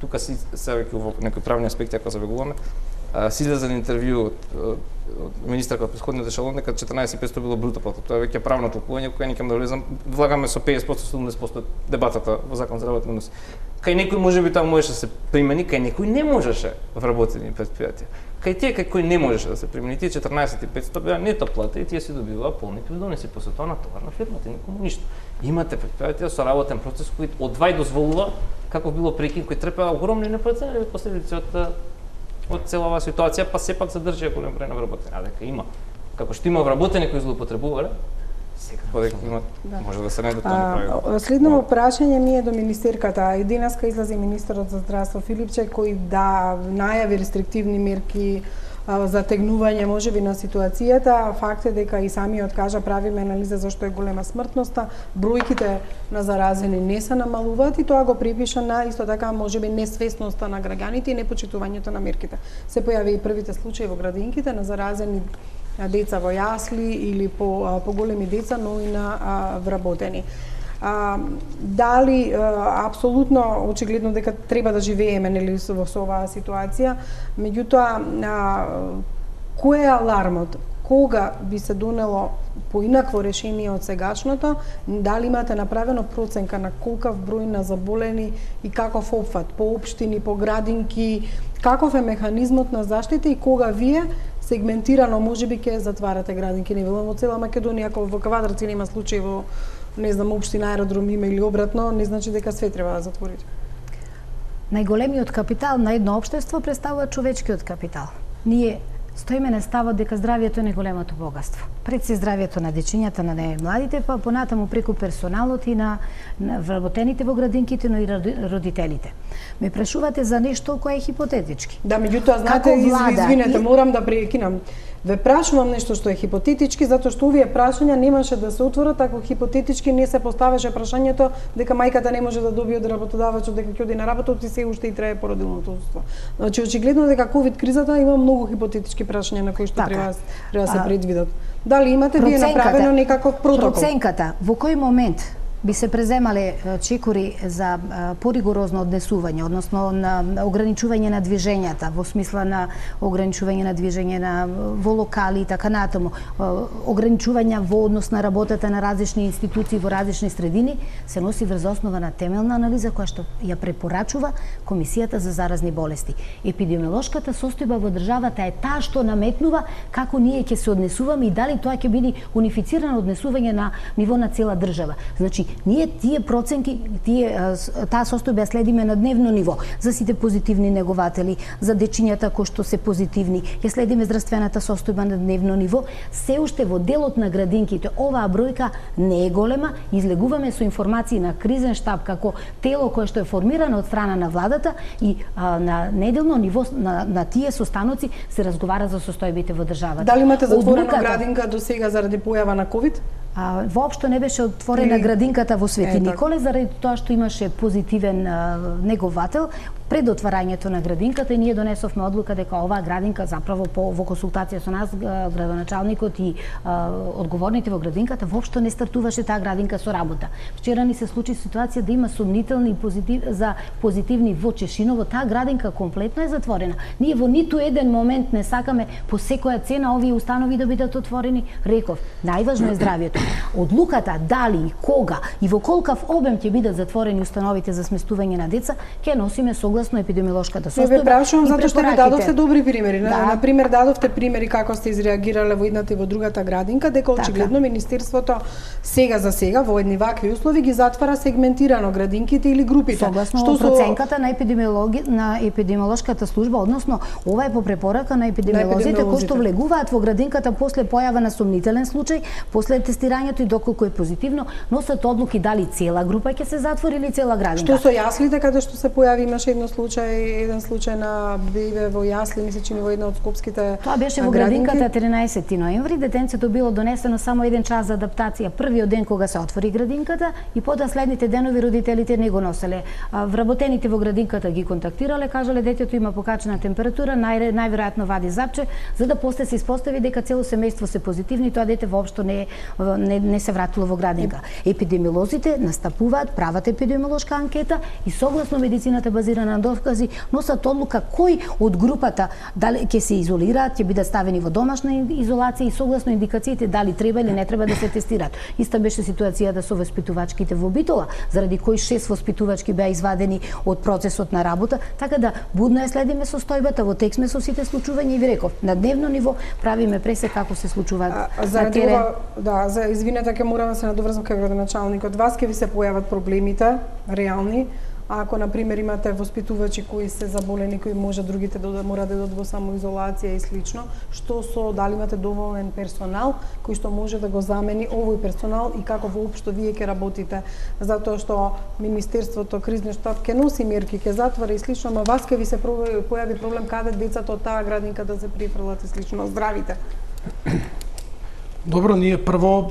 тука си сега во некои правни аспекти ако забегуваме. Си излезе на интервју од министерка од претходниот ешелон дека 14.500 било бруто плата. Тоа е веќе правно толкување кое не ќе да влезам. Влагаме со 50%, 70% дебатата во закон за работни односи. Кај некој можеби тоа можеше да се примени, кај некој не можеше вработени предпријатија. Кај тие кај кој не можеше да се примени, тие 14.500 беа нето плата и тие си добиваа полни придонеси, после тоа натовар на фирмата, никому ништо. Имате предпријатија со работен процес кој од два дозволува, како било прекин, кој трпеа огромни непроценливи последици од целава ситуација, па сепак задржи голем број на вработени. А дека има, како што има вработени кои злоупотребувале, секако дека има, може да се најде тоа неправилно. Следно прашање ми е до министерката. И денеска излезе министерот за здравство Филипче кој најави рестриктивни мерки затегнување можеби на ситуацијата. Факт е дека и самиот кажа правиме анализа зашто е голема смртноста, бројките на заразени не се намалуваат и тоа го припиша на исто така можеби несвесноста на граѓаните и непочитувањето на мерките. Се појави и првите случаи во градинките на заразени деца во јасли или по големи деца, но и на вработени. Дали апсолутно очигледно дека треба да живееме нели во оваа ситуација, меѓутоа кој е алармот? Кога би се донело поинакво решение од сегашното? Дали имате направено проценка на колкав број на заболени и каков опфат по општини, по градинки, каков е механизмот на заштита и кога вие сегментирано можеби ќе затварате градинки? Не велам во цела Македонија, ако во Квадраци нема случаи во не знам, општина аеродром има или обратно, не значи дека све треба да затворите. Најголемиот капитал на едно општество представува човечкиот капитал. Ние Стоиме на ставот дека здравието е најголемото богатство. Пред се здравието на дечињата, на младите, па понатаму преку персоналот и на вработените во градинките, но и родителите. Ме прашувате за нешто кое е хипотетички. Да, меѓутоа, знаете, извинете, морам да прекинам. Ве прашувам нешто што е хипотетички, затоа што овие прашања немаше да се отворат ако хипотетички не се поставеше прашањето дека мајката не може да добие од работодавачот дека ќе оди на работа и се уште и трае породилното отсуство. Значи очигледно дека ковид кризата има многу хипотетички прашања на кои што треба да се предвидат. Дали имате вие направено некаков протокол? Проценката, во кој момент би се преземале чекори за поригорозно однесување, односно на ограничување на движењата, во смисла на ограничување на движење во локали и така натаму, ограничувања во однос на работата на различни институции во различни средини, се носи врз основа на темелна анализа која што ја препорачува Комисијата за заразни болести. Епидемиолошката состојба во државата е таа што наметнува како ние ќе се однесуваме и дали тоа ќе биде унифицирано однесување на ниво на цела држава. Значи, ние тие проценки, таа состојба ја следиме на дневно ниво за сите позитивни негователи, за дечињата кои што се позитивни, ја следиме здравствената состојба на дневно ниво. Се уште во делот на градинките оваа бројка не е голема, излегуваме со информации на кризен штаб како тело кое што е формирано од страна на владата и на неделно ниво на тие состаноци се разговара за состојбите во државата. Дали имате затворена градинка до сега заради појава на ковид? Воопшто не беше отворена градинката во Свети Николе заради тоа што имаше позитивен неговател. Пред отварањето на градинката и ние донесовме одлука дека оваа градинка заправо во консултација со нас градоначалникот и одговорните во градинката воопшто не стартуваше таа градинка со работа. Вчера ни се случи ситуација да има сумнителни за позитивни во Чешиново, таа градинка комплетно е затворена. Ние во ниту еден момент не сакаме по секоја цена овие установи да бидат отворени. Реков, најважно е здравието. Одлуката дали, кога и во колкав обем ќе бидат затворени установите за сместување на деца, ќе носиме согласно епидемиолошката состојба. Ве прашувам затоа што ви дадовте добри примери. На пример дадовте примери како сте изреагирале во едната и во другата градинка, дека очигледно министерството сега за сега во едни вакви услови ги затвара сегментирано градинките или групите. Согласно проценката на епидемиолошката служба, односно ова е по препорака на епидемиолозите кои што влегуваат во градинката после појава на сумнителен случај, после тестирањето и доколку е позитивно, носат одлуки дали цела група ќе се затвори или цела градинка. Што со јаслите каде што се појави имаше еден случај на бебе во јасли, мислам че во една од скопските. Тоа беше во градинката 13 ноември, детенцето било донесено само еден час за адаптација првиот ден кога се отвори градинката и потоа следните денови родителите не го носеле. Вработените во градинката ги контактирале, кажале детето има покачена температура, најверојатно вади запче, за да после се испостави дека цело семејство се позитивни, тоа дете воопшто не се вратило во градинка. Епидемиолозите настапуваат, прават епидемиолошка анкета и согласно медицината базирана на докази носат одлука кој од групата дали ќе се изолираат, ќе бидат ставени во домашна изолација и согласно индикациите дали треба или не треба да се тестираат. Иста беше ситуацијата со воспитувачките во Битола, заради кои 6 воспитувачки беа извадени од процесот на работа, така да будно ја следиме состојбата, во текст сме со сите случувања и ви реков, на дневно ниво правиме пресек како се случуваат на терен. Извинете, ќе морам да се надоврзам кај градоначалникот. Вас ќе ви се појават проблемите реални, ако на пример имате воспитувачи кои се заболени, кои може другите да мора да идат во самоизолација и слично, што со дали имате доволен персонал кој што може да го замени овој персонал и како воопшто вие ќе работите, затоа што министерството кризен штаб ќе носи мерки, ќе затвора и слично, ама вас ќе ви се појави проблем каде децата од таа градинка да се прифрлат и слично, здравите. Добро, ние прво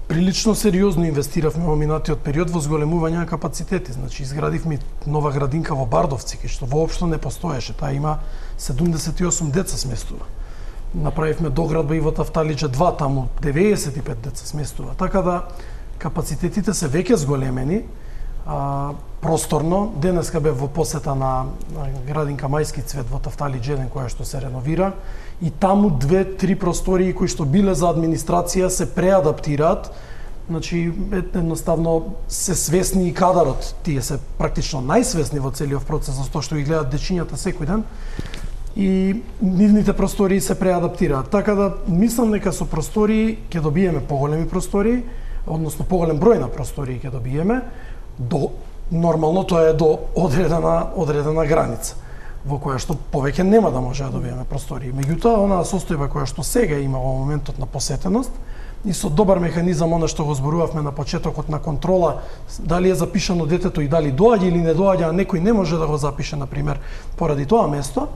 прилично сериозно инвестиравме во минатиот период во зголемување на капацитети. Значи, изградивме нова градинка во Бардовци, кај што воопшто не постоеше. Таа има 78 деца сместува. Направивме доградба и во Тафталиџа 2, таму 95 деца сместува. Така да капацитетите се веќе зголемени, просторно. Денеска бев во посета на градинка Мајски цвет во Тафталиџа 1, која што се реновира. И таму 2-3 простории кои што биле за администрација се преадаптираат. Значи, едноставно се свесни и кадарот. Тие се практично најсвесни во целиот процес, за тоа што ги гледаат дечињата секој ден. И нивните простории се преадаптираат. Така да, мислам дека со простории ќе добиеме поголеми простории, односно поголем број на простории ќе добиеме. Нормално тоа е до одредена граница. во која што повеќе нема да може да добиеме простории. Меѓутоа, онаа состојба која што сега има во моментот на посетеност и со добар механизам, она што го зборувавме на почетокот на контрола, дали е запишано детето и дали доаѓа или не доаѓа, а некој не може да го запише, например, поради тоа место,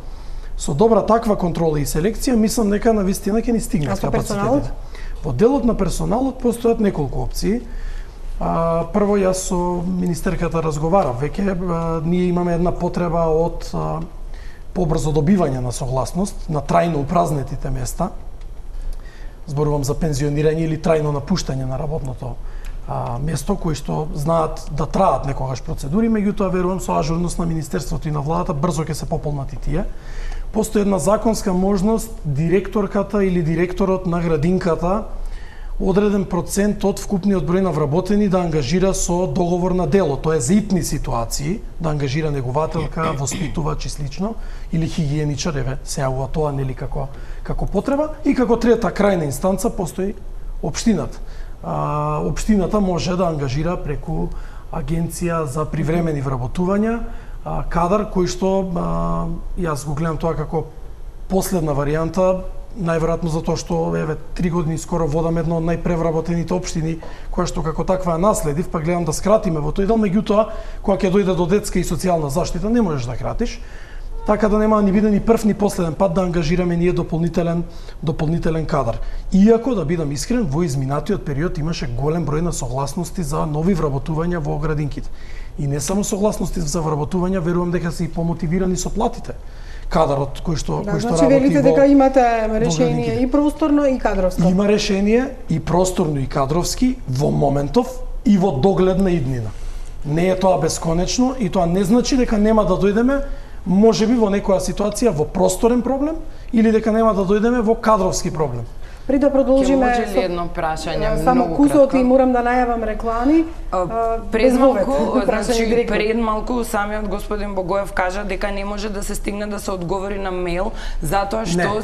со добра таква контрола и селекција, мислам дека навистина ќе ни стигнат капацитетите. Во делот на персоналот постојат неколку опции. Прво, јас со министерката разговарав, веќе ние имаме една потреба од побрзо добивање на согласност на трајно упразнетите места. Зборувам за пензионирање или трајно напуштање на работното место, кои што знаат да траат некогаш процедури, меѓутоа верувам со ажурност на Министерството и на владата брзо ќе се пополнат и тие. Постои една законска можност директорката или директорот на градинката одреден процент од вкупниот број на вработени да ангажира со договор на дело, тоа е за итни ситуации, да ангажира негователка, воспитувач и слично, или хигиеничар, еве, се јавува тоа нели како потреба, и како трета крајна инстанца постои општината. Општината може да ангажира преку агенција за привремени вработувања кадар кој што јас го гледам тоа како последна варијанта, најверојатно затоа што еве 3 години скоро водам една од најпревработените општини која што како таква наследив, па гледам да скратиме во тој дел, меѓутоа кога ќе дојде до детска и социјална заштита не можеш да кратиш. Така да нема ни биде ни прв ни последен пат да ангажираме ние дополнителен кадар. Иако, да бидам искрен, во изминатиот период имаше голем број на согласности за нови вработувања во градинките. И не само согласности за вработувања, верувам дека се и помотивирани со платите. Кадарот кој што значи, работи велите дека имате решение и просторно и кадровско. Има решение и просторно и кадровски во моментов и во догледна иднина. Не е тоа бесконечно и тоа не значи дека нема да дојдеме можеби во некоја ситуација во просторен проблем или дека нема да дојдеме во кадровски проблем. При да продолжиме може ли едно прашање само многу кусот кратко? И морам да најавам реклами. Пред малку, значи пред малку самиот господин Богоев кажа дека не може да се стигне да се одговори на мејл затоа што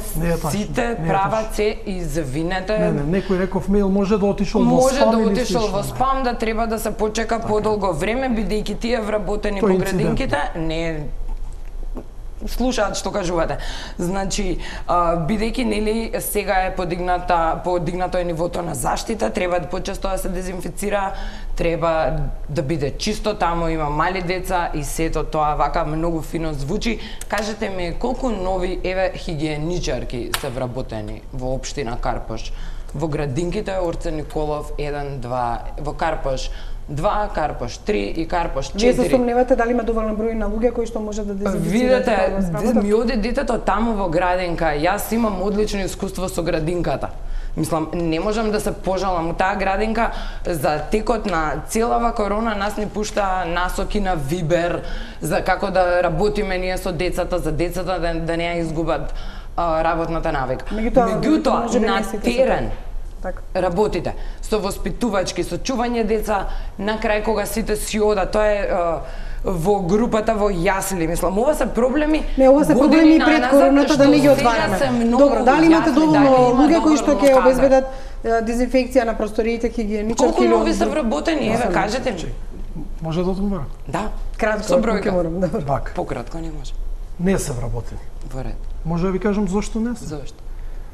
сите прават се извинете. Не, некој реков мејл може да отишол во спам. Може да отишол во спам, да треба да се почека подолго време бидејќи тие вработени по градинките не слушаат што кажувате. Значи, бидејќи нели сега е подигнато е нивото на заштита, треба почесто да се дезинфицира, треба да биде чисто, таму има мали деца и сето тоа вака многу фино звучи. Кажете ми колку нови хигиеничарки се вработени во општина Карпош? Во градинките Орце Николов 1, 2, во Карпош 2, Карпош 3 и Карпош 4. Вие се сомневате дали има доволен број на луѓе кои што може да дезинфицираат? Видете, ми оди детето таму во градинка. Јас имам одлично искуство со градинката. Мислам, не можам да се пожалам. Таа градинка за текот на целава корона нас ни пушта насоки на Вибер за како да работиме ние со децата, за децата да не ја изгубат работната навика. Меѓутоа, на терен работите со воспитувачки, со чување деца, на крај кога сите си одат, тоа е во групата во јасли, мислам, ова се проблеми. Не, ова се проблеми пред короната да не ги отвараме. Добро, дали имате доволно луѓе кои што ќе обезбедат дезинфекција на просториите, хигиеничарки? Колку нови се вработени, еве кажете ми. Може да одговорам? Да. Кратко, со бројка. Вака. Пократко не може. Не се вработени. Во ред. Може да ви кажам зошто не се? Зошто?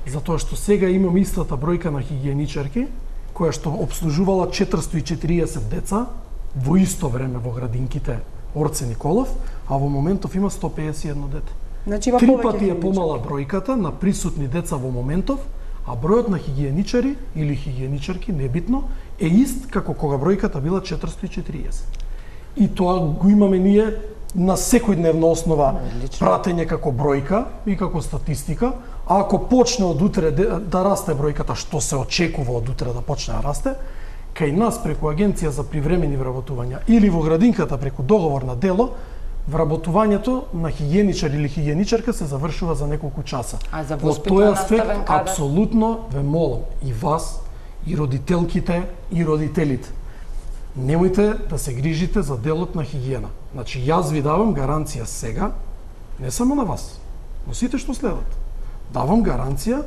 Затоа што сега имам истата бројка на хигиеничарки, која што обслужувала 440 деца во исто време во градинките Орце Николов, а во моментов има 151 дете. Значи, 3 пати е помала бројката на присутни деца во моментов, а бројот на хигиеничари или хигиеничарки, небитно, е ист како кога бројката била 440. И тоа го имаме ние на секојдневна основа пратење како бројка и како статистика. А ако почне од утре да расте бројката, што се очекува од утре да почне да расте, кај нас преку Агенција за привремени вработувања или во градинката преку договор на дело, вработувањето на хигиеничар или хигиеничарка се завршува за неколку часа. А за во тој аспект, апсолутно ве молам и вас, и родителките, и родителите. Немојте да се грижите за делот на хигиена. Значи, јас ви давам гаранција сега, не само на вас, но сите што следат. Давам гаранција,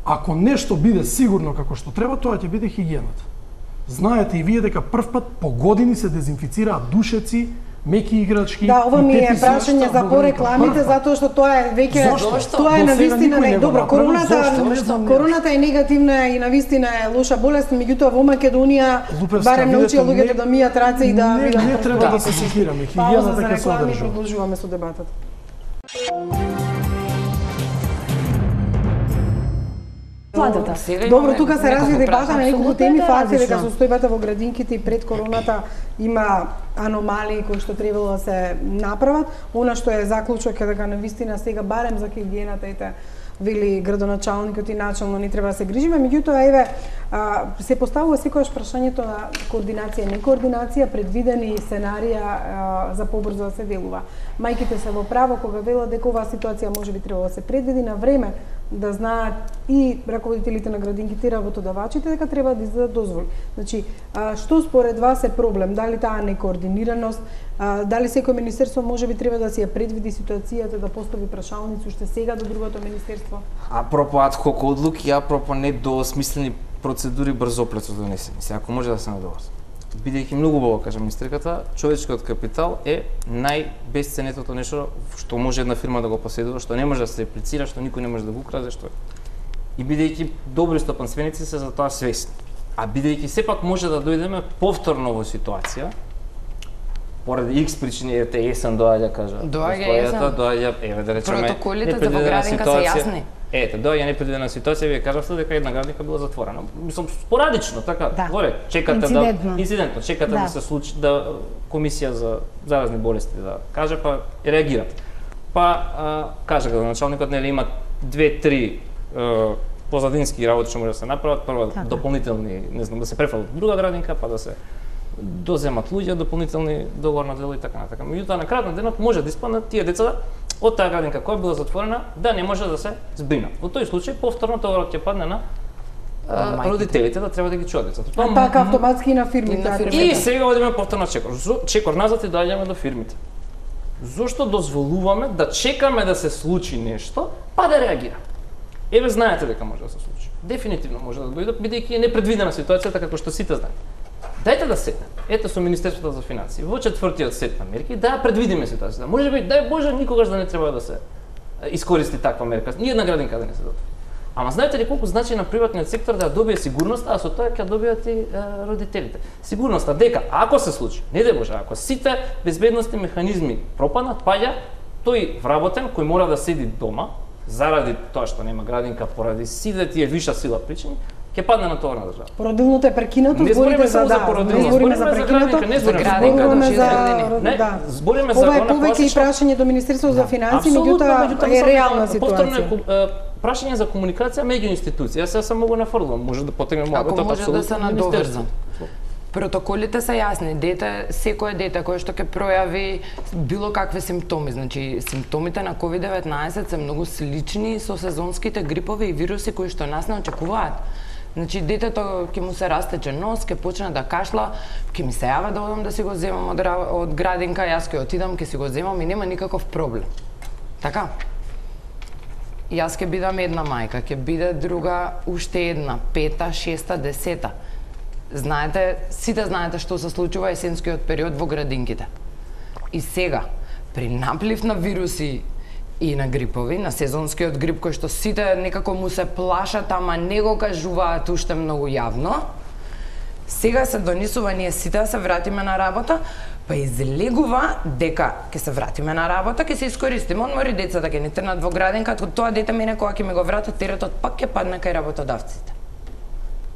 ако нешто биде сигурно како што треба, тоа ќе биде хигиената. Знаете и вие дека прв пат по години се дезинфицираат душеци меки играчки. Да, ова ми е тепи прашање зашто за го порекламите, затоа што тоа е веќе тоа е До на сега вистина никој не го добро. направил. Короната е негативна и на вистина е лоша болест, меѓутоа во Македонија Лупевска, барем научија видете, луѓето да мијат раце и да не, видат. не треба да се секираме. Пауза за Хигиената ќе се реклами, одржува. продолжуваме со дебатата. Владата. Добро, тука се разви дебата на неколку теми, факт е дека различно. состојбата во градинките и пред короната има аномалии кои што требало да се направат. Она што е заклучок е дека навистина сега барем за хигиената ете вели градоначалникот и начално не треба да се грижиме, меѓутоа еве се поставува секогаш прашањето на координација, не координација, предвидени сценарија за побрзо да се делува. Мајките се во право кога велат дека оваа ситуација можеби треба да се предвиди на време, да знаат и раководителите на градинките и работодавачите дека треба да издадат дозволи. Значи, што според вас е проблем? Дали таа некоординираност, дали секој министерство можеби треба да си ја предвиди ситуацијата да постави прашалници уште сега до другото министерство? Апропо адхок одлуки, апропо недоосмислени процедури брзоплетно донесени. Се ако може да се надоврзам. Бидејќи многу убаво кажа министерката, човечкиот капитал е најбесценетото нешто што може една фирма да го поседува, што не може да се реплицира, што никој не може да го краде, што и бидејќи добри стопанственици се за тоа свесни. А бидејќи сепак може да дојдеме повторно во ситуација, поради X причини, ете есен доаѓа, кажа. Доаѓа есен. Доаѓа, еве да речеме, Протоколите за во градинка се јасни. Ете, доаѓа непредвидена ситуација, вие кажавте дека една градинка била затворена. Мислам спорадично, така, Да. горе, чекате Инцидентно. чекате Да. да се случи да комисија за заразни болести да каже, па реагират. Па кажа градоначалникот, нели има 2-3 позадински работи што може да се направат, прво Така. дополнителни, не знам, да се префрлат друга градинка, па да се доземат луѓе, дополнителни договорно дело и така натака. Меѓутоа на крајот на денот може да испаднат тие деца од таа градинка која била затворена да не може да се збринат. Во тој случај повторно товарот ќе падне на родителите да треба да ги чуваат децата. А така автоматски и на фирмите. И сега одиме повторно чекор назад и доаѓаме до фирмите. Зошто дозволуваме да чекаме да се случи нешто, па да реагираме? Еве знаете дека може да се случи. Дефинитивно може да дојде, бидејќи е непредвидена ситуацијата како што сите знаат. Дајте да седнем. Ете со Министерството за финансии во четвртиот сет на мерки да ја предвидиме ситуацијата. Можеби дај Боже никогаш да не треба да се искористи таква мерка. Ни една градинка да не се затвори. Ама знаете ли колку значи на приватниот сектор да ја добие сигурност, а со тоа ќе добијат и родителите. Сигурноста дека ако се случи, не дај Боже, ако сите безбедносни механизми пропаднат, паѓа тој вработен кој мора да седи дома заради тоа што нема градинка, поради сите тие виша сила причини, ќе падне на товар на држава. Породилното е прекинато, Не збориме зборите само за да, породилно, не збориме за збориме за прекинато, градинка, не збориме за градинка, зборуваме да, Не, да. збориме за Ова е она повеќе и класична прашање до Министерството за финансии, Апсолутно, меѓутоа е реална ситуација. Повторно е прашање за комуникација меѓу институции. Јас само го нафрлам, може да потегнем Ако муабетот може да се апсолутно надоврзам. министерство. Протоколите се јасни. Секое дете кое што ќе пројави било какви симптоми, значи симптомите на COVID-19 се многу слични со сезонските грипови и вируси кои што нас не очекуваат. Значи детето ќе му се растече нос, ќе почне да кашла, ќе ми се јава да одам да си го земам од градинка, јас ќе отидам, ќе си го земам и нема никаков проблем. Така? Јас ќе бидам една мајка, ќе биде друга уште една, 5-та, 6-та, 10-та. Знаете, сите знаете што се случува есенскиот период во градинките. И сега, при наплив на вируси и на грипови, на сезонскиот грип кој што сите некако му се плашат, ама не го кажуваат уште многу јавно, сега се донесува ние сите да се вратиме на работа, па излегува дека ќе се вратиме на работа, ќе се искористиме одмори, децата ќе ни трнат во градинка, тоа дете мене кога ќе ми го вратат теретот пак ќе падне кај работодавците.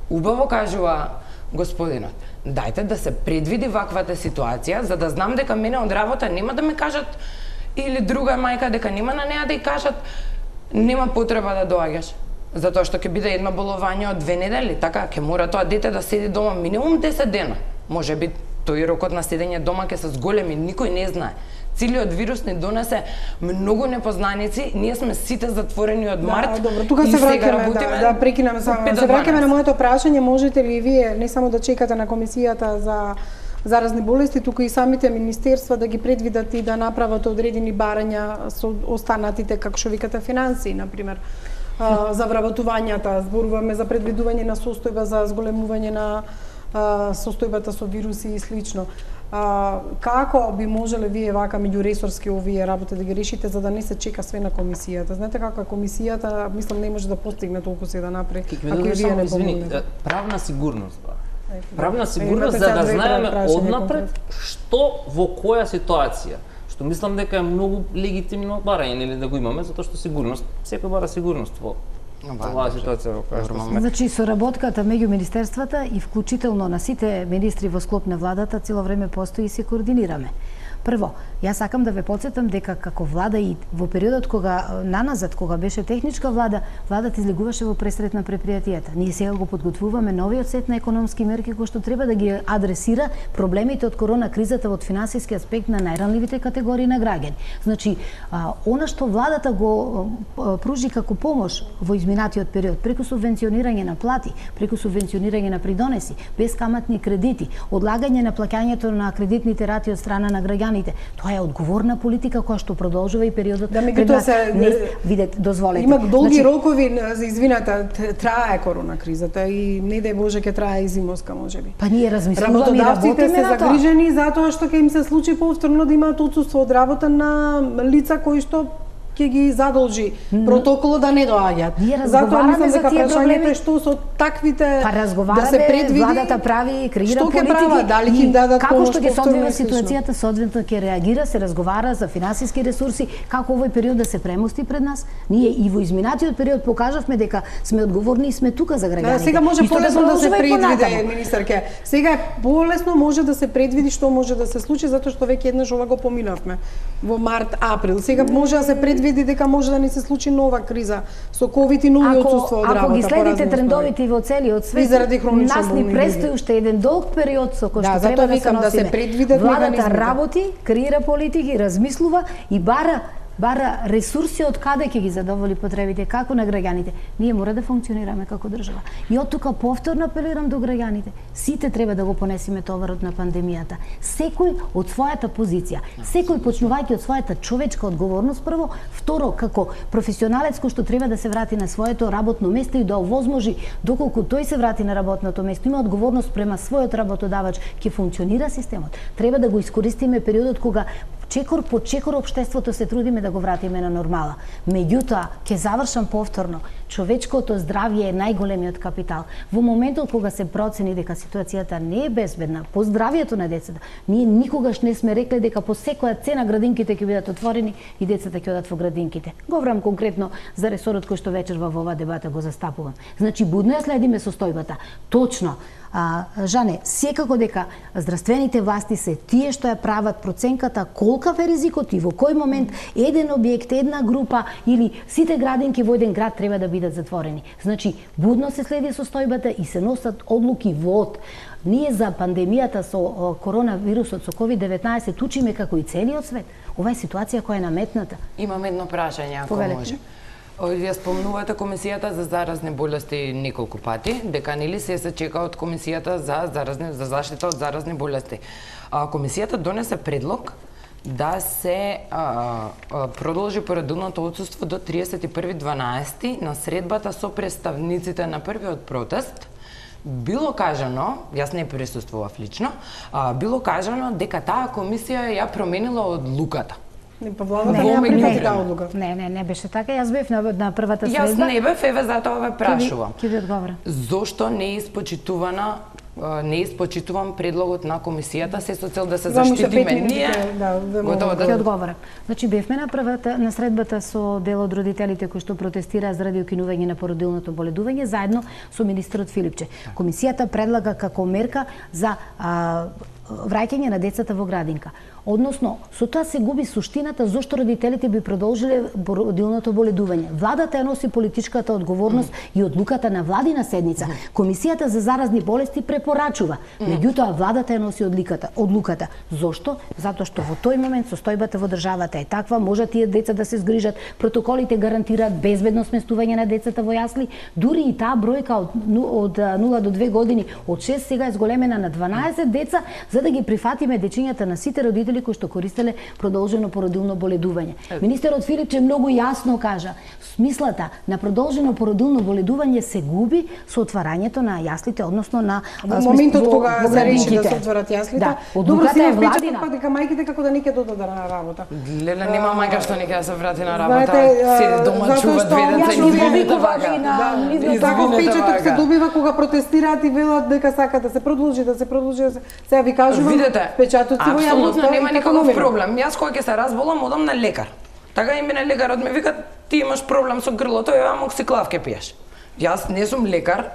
Убаво кажува господинот, дајте да се предвиди ваквата ситуација, за да знам дека мене од работа нема да ми кажат или друга мајка дека нема на неа да ја кажат нема потреба да доаѓаш. Затоа што ќе биде едно болување од 2 недели, така ќе мора тоа дете да седи дома минимум 10 дена. Можеби тој рокот на седење дома ќе се зголеми, никој не знае. Целиот вирус ни донесе многу непознаници, ние сме сите затворени од март. Добро, тука и се сега враќаме, работиме да прекинеме само. од 5 Се до враќаме на 12. моето прашање, можете ли вие не само да чекате на комисијата за заразни болести, туку и самите министерства да ги предвидат и да направат одредени барања со останатите, како што викате, финансии, например, за вработувањата, зборуваме за предвидување на состојба за зголемување на состојбата со вируси и слично. како би можеле вие вака меѓуресорски овие работи да ги решите за да не се чека све на комисијата? Знаете како комисијата, мислам не може да постигне толку се да направи ако и вие не помогнете. Правна сигурност. Правна сигурност за да знаеме однапред што во која ситуација. Што мислам дека е многу легитимно барање или да го имаме, затоа што сигурност, секој бара сигурност во оваа ситуација во која сме. Значи соработката меѓу министерствата и вклучително на сите министри во склоп на владата цело време постои и се координираме. Прво, јас сакам да ве потсетам дека како влада и во периодот кога наназад, кога беше техничка влада, владата излегуваше во пресрет на предпријатијата. Ние сега го подготвуваме новиот сет на економски мерки кои што треба да ги адресира проблемите од корона кризата од финансиски аспект на најранливите категории на граѓани. Значи, она што владата го пружи како помош во изминатиот период, преку субвенционирање на плати, преку субвенционирање на придонеси, безкаматни кредити, одлагање на плаќањето на кредитните рати од страна на граѓани, тоа е одговорна политика која што продолжува и периодот пред нас. Видете, дозволете. Има долги рокови за извината, трае корона кризата и не дај Боже ќе трае и зимоска можеби. Па ние размислуваме и работиме работиме се загрижени затоа што ќе им се случи повторно да имаат отсуство од работа на лица кои што ќе ги задолжи протоколот да не доаѓаат. Затоа мислам дека прашањето е што со таквите да се предвиди владата прави, креира што политики, прават, дали ќе им дадат како помош, што ќе се одвива ситуацијата, соодветно ќе реагира, се разговара за финансиски ресурси, како овој период да се премости пред нас. Ние и во изминатиот период покажавме дека сме одговорни и сме тука за граѓаните. Сега може полесно да се предвиди, министерке. Сега е полесно може да се предвиди што може да се случи затоа што веќе еднаш ова го поминавме во март, април. Сега може да се види дека може да не се случи нова криза со ковид и нови отсуство од работа. Ако ги следите трендовите во целиот свет, нас ни престои уште еден долг период со кој што треба да се носиме. Да се предвидат владата работи, креира политики, размислува и бара ресурси од каде ќе ги задоволи потребите како на граѓаните. Ние мора да функционираме како држава. И од тука повторно апелирам до граѓаните. Сите треба да го понесеме товарот на пандемијата. Секој од својата позиција, секој почнувајќи од својата човечка одговорност прво, второ како професионалец кој што треба да се врати на своето работно место и да овозможи доколку тој се врати на работното место, има одговорност према својот работодавач, ќе функционира системот. Треба да го искористиме периодот кога чекор по чекор општеството се трудиме да го вратиме на нормала. Меѓутоа, ќе завршам повторно, човечкото здравје е најголемиот капитал. Во моментот кога се процени дека ситуацијата не е безбедна, по здравјето на децата, ние никогаш не сме рекле дека по секоја цена градинките ќе бидат отворени и децата ќе одат во градинките. Говорам конкретно за ресорот кој што вечер во оваа дебата го застапувам. Значи, будно ја следиме состојбата. Точно. Жане, секако дека здравствените власти се тие што ја прават проценката колкав е ризикот и во кој момент еден објект, една група или сите градинки во еден град треба да бидат затворени. Значи, будно се следи состојбата и се носат одлуки во Ние за пандемијата со коронавирусот, со COVID-19 учиме како и целиот свет. Ова е ситуација која е наметната. Имам едно прашање, ако може. Вие спомнувате Комисијата за заразни болести неколку пати, дека нели се чека од Комисијата за заштита од заразни болести. Комисијата донесе предлог да се продолжи породилното отсуство до 31.12 на средбата со представниците на првиот протест. Било кажано, јас не присуствував лично, било кажано дека таа комисија ја променила одлуката. Не беше така. Јас бев на првата средба. Јас не бев, еве затоа ве прашувам. Ќе ви одговорам. Зошто не испочитувам предлогот на комисијата се со цел да се заштитиме ние? Ќе одговорам. Значи бевме на средбата со дел од родителите кои што протестираа заради укинување на породилното боледување заедно со министерот Филипче. Комисијата предлага како мерка за враќање на децата во градинка. Односно, со тоа се губи суштината зошто родителите би продолжиле породилното боледување. Владата ја носи политичката одговорност и одлуката на владина седница. Комисијата за заразни болести препорачува. Меѓутоа, владата ја носи одлуката. Зошто? Затоа што во тој момент состојбата во државата е таква, може тие деца да се згрижат, протоколите гарантираат безбедно сместување на децата во јасли, дури и таа бројка од 0 до 2 години, од 6 сега е зголемена на 12 деца, за да ги прифатиме дечињата на сите родители родители кои што користеле продолжено породилно боледување. Министерот Филипче многу јасно кажа, смислата на продолжено породилно боледување се губи со отварањето на јаслите, односно на моментот кога се реши да се отворат јаслите. Да, одлуката е владина. Па дека мајките како да не ќе додат на работа. Леле, нема мајка што не ќе да се врати на работа. Се дома чува две деца и извините вака. Таков печаток се добива кога протестираат и велат дека сака да се продолжи, Сега ви кажувам, печатоци во јавноста. Апсолутно нема никаков проблем. Јас кога ќе се разболам, одам на лекар. Така и мене лекарот ми вика, ти имаш проблем со грлото, ја амоксиклав ќе пиеш. Јас не сум лекар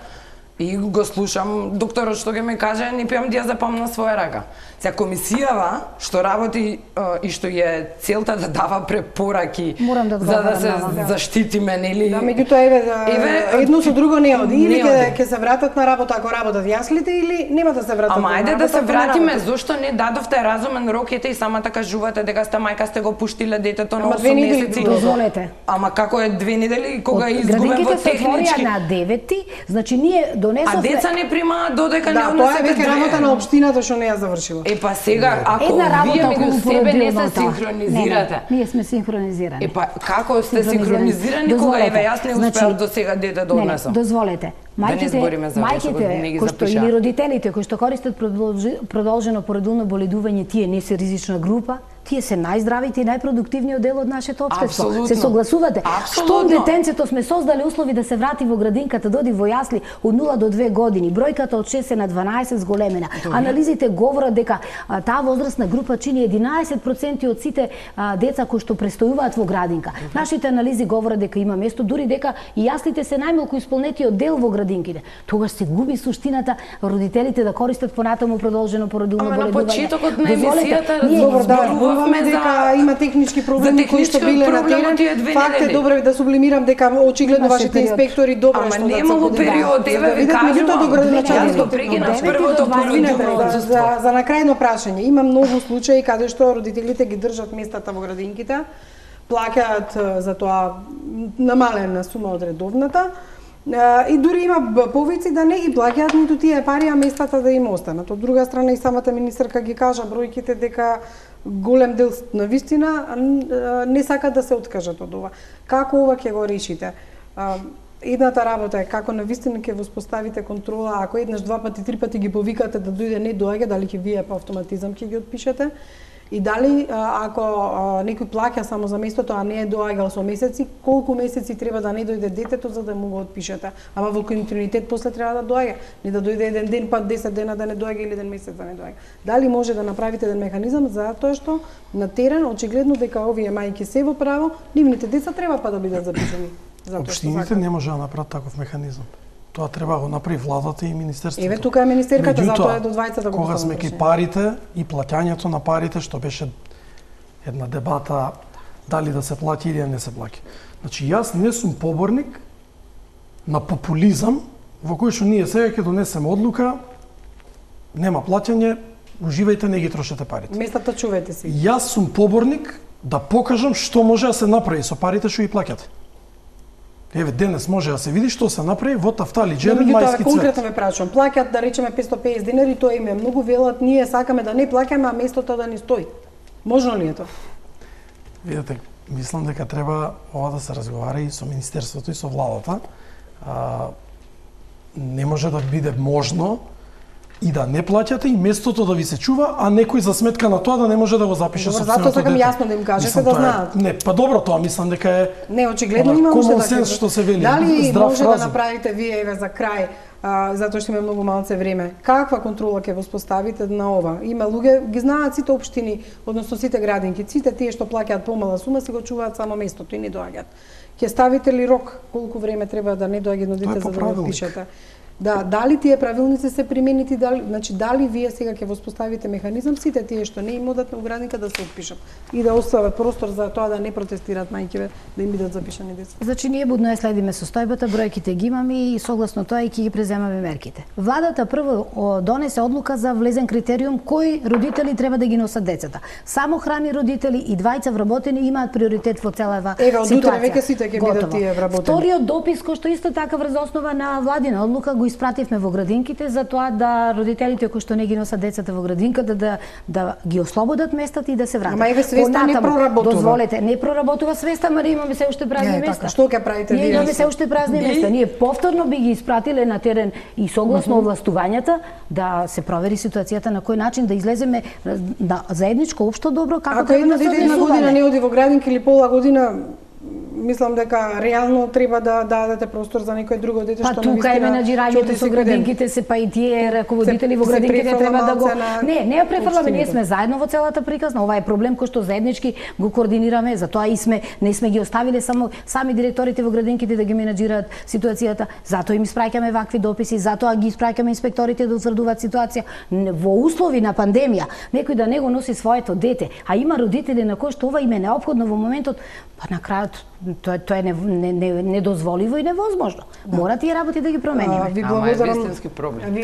и го слушам докторот што ќе ме каже, не пијам диазепам на своја рака. Сега комисијава што работи и што е целта да дава препораки за да се заштитиме, нели? Да, меѓутоа едно со друго не оди. Или ќе се вратат на работа ако работат јаслите или нема да се вратат. Ама ајде да се вратиме, зошто не дадовте разумен рок, ете и самата кажувате дека сте мајка, сте го пуштиле детето на 8 месеци. Дозволете. Ама како е 2 недели кога изгубен во технички? Градинките се отворија на 9, значи ние донесовме. А деца не примаат додека не однесете. Да, тоа е веќе работа на општината што не ја завршила. Па сега, ако вие меѓу себе не се синхронизирате. Ние сме синхронизирани. Па како сте синхронизирани кога еве јас не успеав до сега дете да однесам? Дозволете. Мајките кои што или родителите кои што користат продолжено породилно боледување, тие не се ризична група, тие се најздравите и најпродуктивниот дел од нашето општество. Се согласувате? Што детенцето сме создали услови да се врати во градинката, доди во јасли од 0 до 2 години, бројката од 6 на 12 зголемена. Анализите говорат дека таа возрастна група чини 11% од сите деца кои што престојуваат во градинка. Нашите анализи говорат дека има место, дури дека и јаслите се најмалку исполнетиот дел во градинките. Тогаш се губи суштината родителите да користат понатаму продолжено породилно боледување. На почетокот на емисијата дека има технички проблеми кои што биле на терен. Факт е, добро да сублимирам дека очигледно вашите инспектори добро што да немало период, еве ви кажувам. Јас го прекинав првото породилно отсуство. За накрајно прашање, има многу случаи каде што родителите ги држат местата во градинките, плаќаат за тоа намалена сума од редовната. И дури има повици да не ги плаќаат ниту тие пари, а местата да им останат. Од друга страна и самата министерка ги кажа бројките дека голем дел на вистина не сакат да се откажат од ова. Како ова ќе го решите? Едната работа е како на вистина ќе воспоставите контрола, ако еднаш, 2 пати, 3 пати ги повикате да дојде не доаѓа, дали ќе вие по автоматизам ќе ги отпишете? И дали ако некој плаќа само за местото, а не е доаѓал со месеци, колку месеци треба да не дојде детето за да му го отпишете? Ама во континуитет после треба да доаѓа, не да дојде еден ден, па 10 дена да не доаѓа или еден месец да не доаѓа. Дали може да направите еден механизам за тоа што на терен очигледно дека овие мајки се во право, нивните деца треба па да бидат запишани? Општините не може да направат таков механизам. Тоа треба да го направи владата и министерството. Еве тука е министерката, затоа е до двајца да го кога сме ки парите и плаќањето на парите, што беше една дебата дали да се плаќа или не се плаќа. Значи јас не сум поборник на популизам во кој што ние сега ќе донесеме одлука, нема плаќање, уживајте, не ги трошете парите. Местата чувајте си. Јас сум поборник да покажам што може да се направи со парите што ги плаќате. Еве денес може да се види што се направи во Тафтали Джерен мајски цвет. Конкретно ме прашувам, плаќат да речеме 550 динари, тоа им е многу, велат ние сакаме да не плаќаме, а местото да ни стои. Можно ли е тоа? Видете, мислам дека треба ова да се разговара и со министерството и со владата. Не може да биде можно и да не плаќате и местото да ви се чува, а некој за сметка на тоа да не може да го запише собственото дете. Затоа сакам јасно да им кажете да знаат. Не, па добро, тоа мислам дека е не очигледно има уште да кажете. Што се вели, дали може разум да направите вие еве за крај, затоа што има многу малце време. Каква контрола ќе воспоставите на ова? Има луѓе, ги знаат сите општини, односно сите градинки, сите тие што плаќаат помала сума си го чуваат само местото и не доаѓаат. Ќе ставите ли рок колку време треба да не доаѓа едно дете за да го пишете? Да, дали тие правилници се применити, дали вие сега ќе воспоставите механизам сите тие што не им одат на градинка да се отпишат и да остават простор за тоа да не протестираат мајките да им бидат запишани деца. Значи ние будно ја следиме состојбата, бројките ги имаме и согласно тоа и ќе ги преземаме мерките. Владата прво донесе одлука за влезен критериум кои родители треба да ги носат децата. Самохрани родители и двајца вработени имаат приоритет во целава ситуација. Еве од утре веќе сите ќе бидат тие вработени. Вториот допис кој што исто така врз основа на владина одлука го испративме во градинките за тоа да родителите кои што не ги носат децата во градинката да ги ослободат местата и да се вратат. Ама еве свеста не проработува. Дозволете, не проработува свеста, ама имаме се уште празни места. Така, што ќе правите вие? Имаме се уште празни места. Ние повторно би ги испратиле на терен и согласно овластувањата да се провери ситуацијата на кој начин да излеземе на заедничко општо добро како треба да се однесуваме. Ако една година не оди во градинка или пола година, мислам дека реално треба да дадете простор за некој друго дете што навистина. Па тука е менаџирањето со градинките, се па и тие раководители во градинките треба да го Не ја префрламе, ние сме заедно во целата приказна. Ова е проблем кој што заеднички го координираме, затоа и не сме ги оставиле само сами директорите во градинките да ги менаџираат ситуацијата. Затоа им испраќаме вакви дописи, затоа ги испраќаме инспекторите да утврдуваат ситуација во услови на пандемија. Некој да не го носи своето дете, а има родители на кои што ова им е неопходно во моментот, па на крајот тоа е недозволиво и невозможно. Мора тие работи да ги промениме. Ви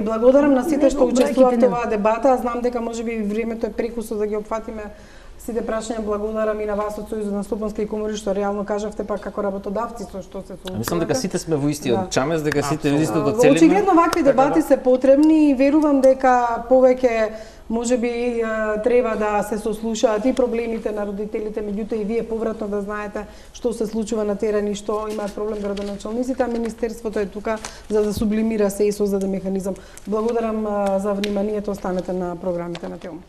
благодарам на сите што учествувавте во оваа дебата. Знам дека можеби времето е прекусо да ги опфатиме сите прашања. Благодарам и на вас од Сојузот на стопански комори што реално кажавте па како работодавци со што се соочувате. Мислам дека сите сме во истиот чамес, дека сите во истото целиме. Очигледно вакви дебати се потребни и верувам дека повеќе можеби треба да се сослушаат и проблемите на родителите, меѓутоа и вие повратно да знаете што се случува на терен и што имаат проблем градоначалниците, а Министерството е тука за да сублимира се и создаде механизам. Благодарам за вниманието, останете на програмите на Телма.